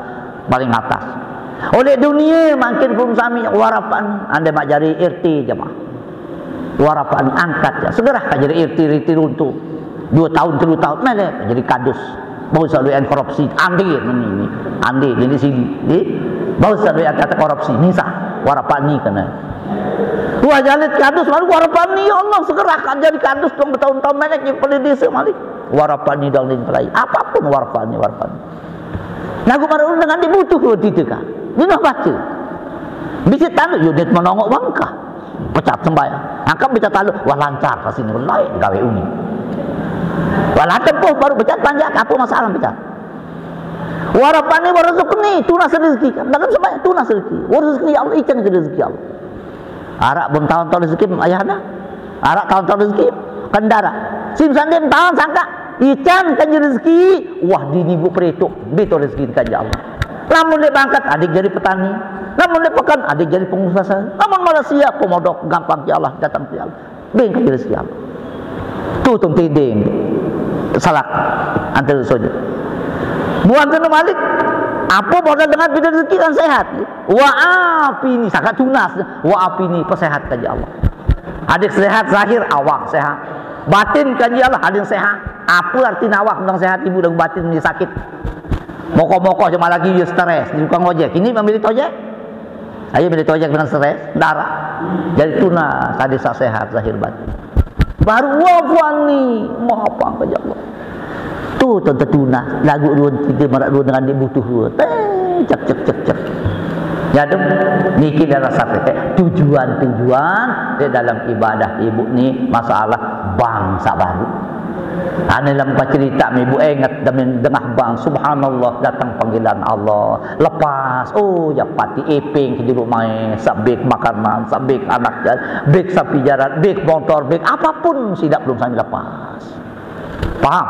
paling atas. Oleh dunia makin pun sami warapani. Anda mak jari irti jemaah. Warapani angkat ya. Segera ka jadi irti-irti runtuh. Dua tahun, tiga tahun, melek jadi kadus. Bau selalu yang korupsi, andi ini, ini, andi ini sini, di bau selalu yang kata korupsi, misah, warapani kena. Wah jadi kadus baru warapani, ya Allah segera ka jadi kadus dong bertahun-tahun melek yang paling desa malik. Warapani dong di pelai, apapun warapani, warapani. Lagu baru dengan dibutuh kita kan, dia nak baca. Bisa tahu, yo dia menongok bangka. Pecat sembahyang. Angkat pecat taluk, wah lancar pasti ni lain gawe uni. Wah lantempuh baru pecat panjak, apa masalah pecat? Warapani warasukni, tunas rezeki kan. Dalam sembahyang tunas rezeki. Warasukni ya Allah, ikan ke rezeki ya Allah. Arak belum tahun-tahun rezeki ayah dah. Arak tahun-tahun rezeki kendara. Sim sandin tahun sangka ikan kan rezeki. Wah dini bu perituk. Betul rezeki kan ya Allah. Lamun dia bangkat, adik jadi petani. Namun dia pekan, adik jadi pengusaha. Namun Malaysia, pemodok, gampang ya Allah, datang ya Allah. Bengkak rezeki Allah. Tu tu tiding. Salak. Antar saja. Buat tu malik. Apa modal dengan bidang rezeki kan sehat. Wa afi ni, sangat tunas. Wa afi ni, pesehat kaji Allah. Adik sehat, zahir, awak sehat. Batin kaji Allah, adik sehat. Apa arti awak yang sehat, ibu dan batin ni sakit. Moko-moko cuma lagi dia stres, dia tukang ojek. Ini memilih ojek. Ayo milih ojek dengan stres, darah. Jadi tunas, tadi sa sehat, zahir batin. Baru wafani, maha pangka ya Allah. Tu tentu tunas, lagu dua kita marak dua dengan dia butuh dua. Eh, cek, cek, cek, cek. Jadi, niki dah rasa eh, tujuan-tujuan di dalam ibadah ibu ni masalah bangsa baru. Ane lam cerita mi bu enget demin dengah bang, subhanallah, datang panggilan Allah. Lepas, oh ya pati iping ke juru mai, sabik makanan, sabik anak jalan, bik sapi jalan, bik motor, bik apapun sidak belum sampai lepas. Paham?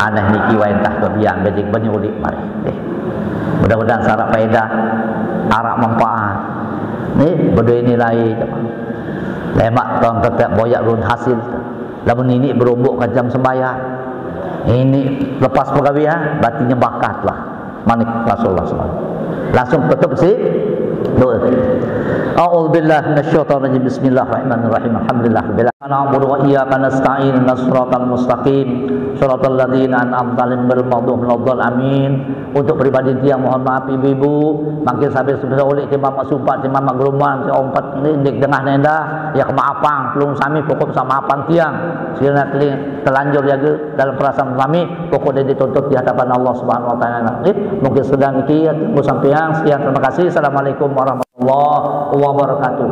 Aneh niki wain tah kebiang bedik benyulik mari. Eh. Mudah-mudahan sarak faedah, arak manfaat. Ni berdua nilai. Lemak tong tetap boyak run hasil. Lamun ini berombok ke jam sembahyang. Ini lepas pegawai ha, berarti nyebakat lah. Manik Rasulullah sallallahu alaihi wasallam. Langsung tutup si Doa. A'udzubillahi minasyaitonirrajim. Bismillahirrahmanirrahim. Alhamdulillah. Na'budu wa iyyaka nasta'in. Shiratal mustaqim. Shiratal ladzina an'amta 'alaihim ghairil maghdubi 'alaihim waladdallin. Amin. Untuk pribadi tiang mohon maaf ibu-ibu, mangkin sampai sudah oleh tiang mamak sumpat, tiang mamak gerombol, tiang ompat ni dik tengah nenda, ya kemaafan, pelung sami pokok samaafan tiang. Sekiranya teling-, telanjur jaga dalam perasaan sami, pokok dia dituntut di hadapan Allah Subhanahu wa taala. Okey, mungkin sekedar niki ya, tiang sampeang. Sekian, terima kasih. Assalamualaikum warahmatullahi wabarakatuh.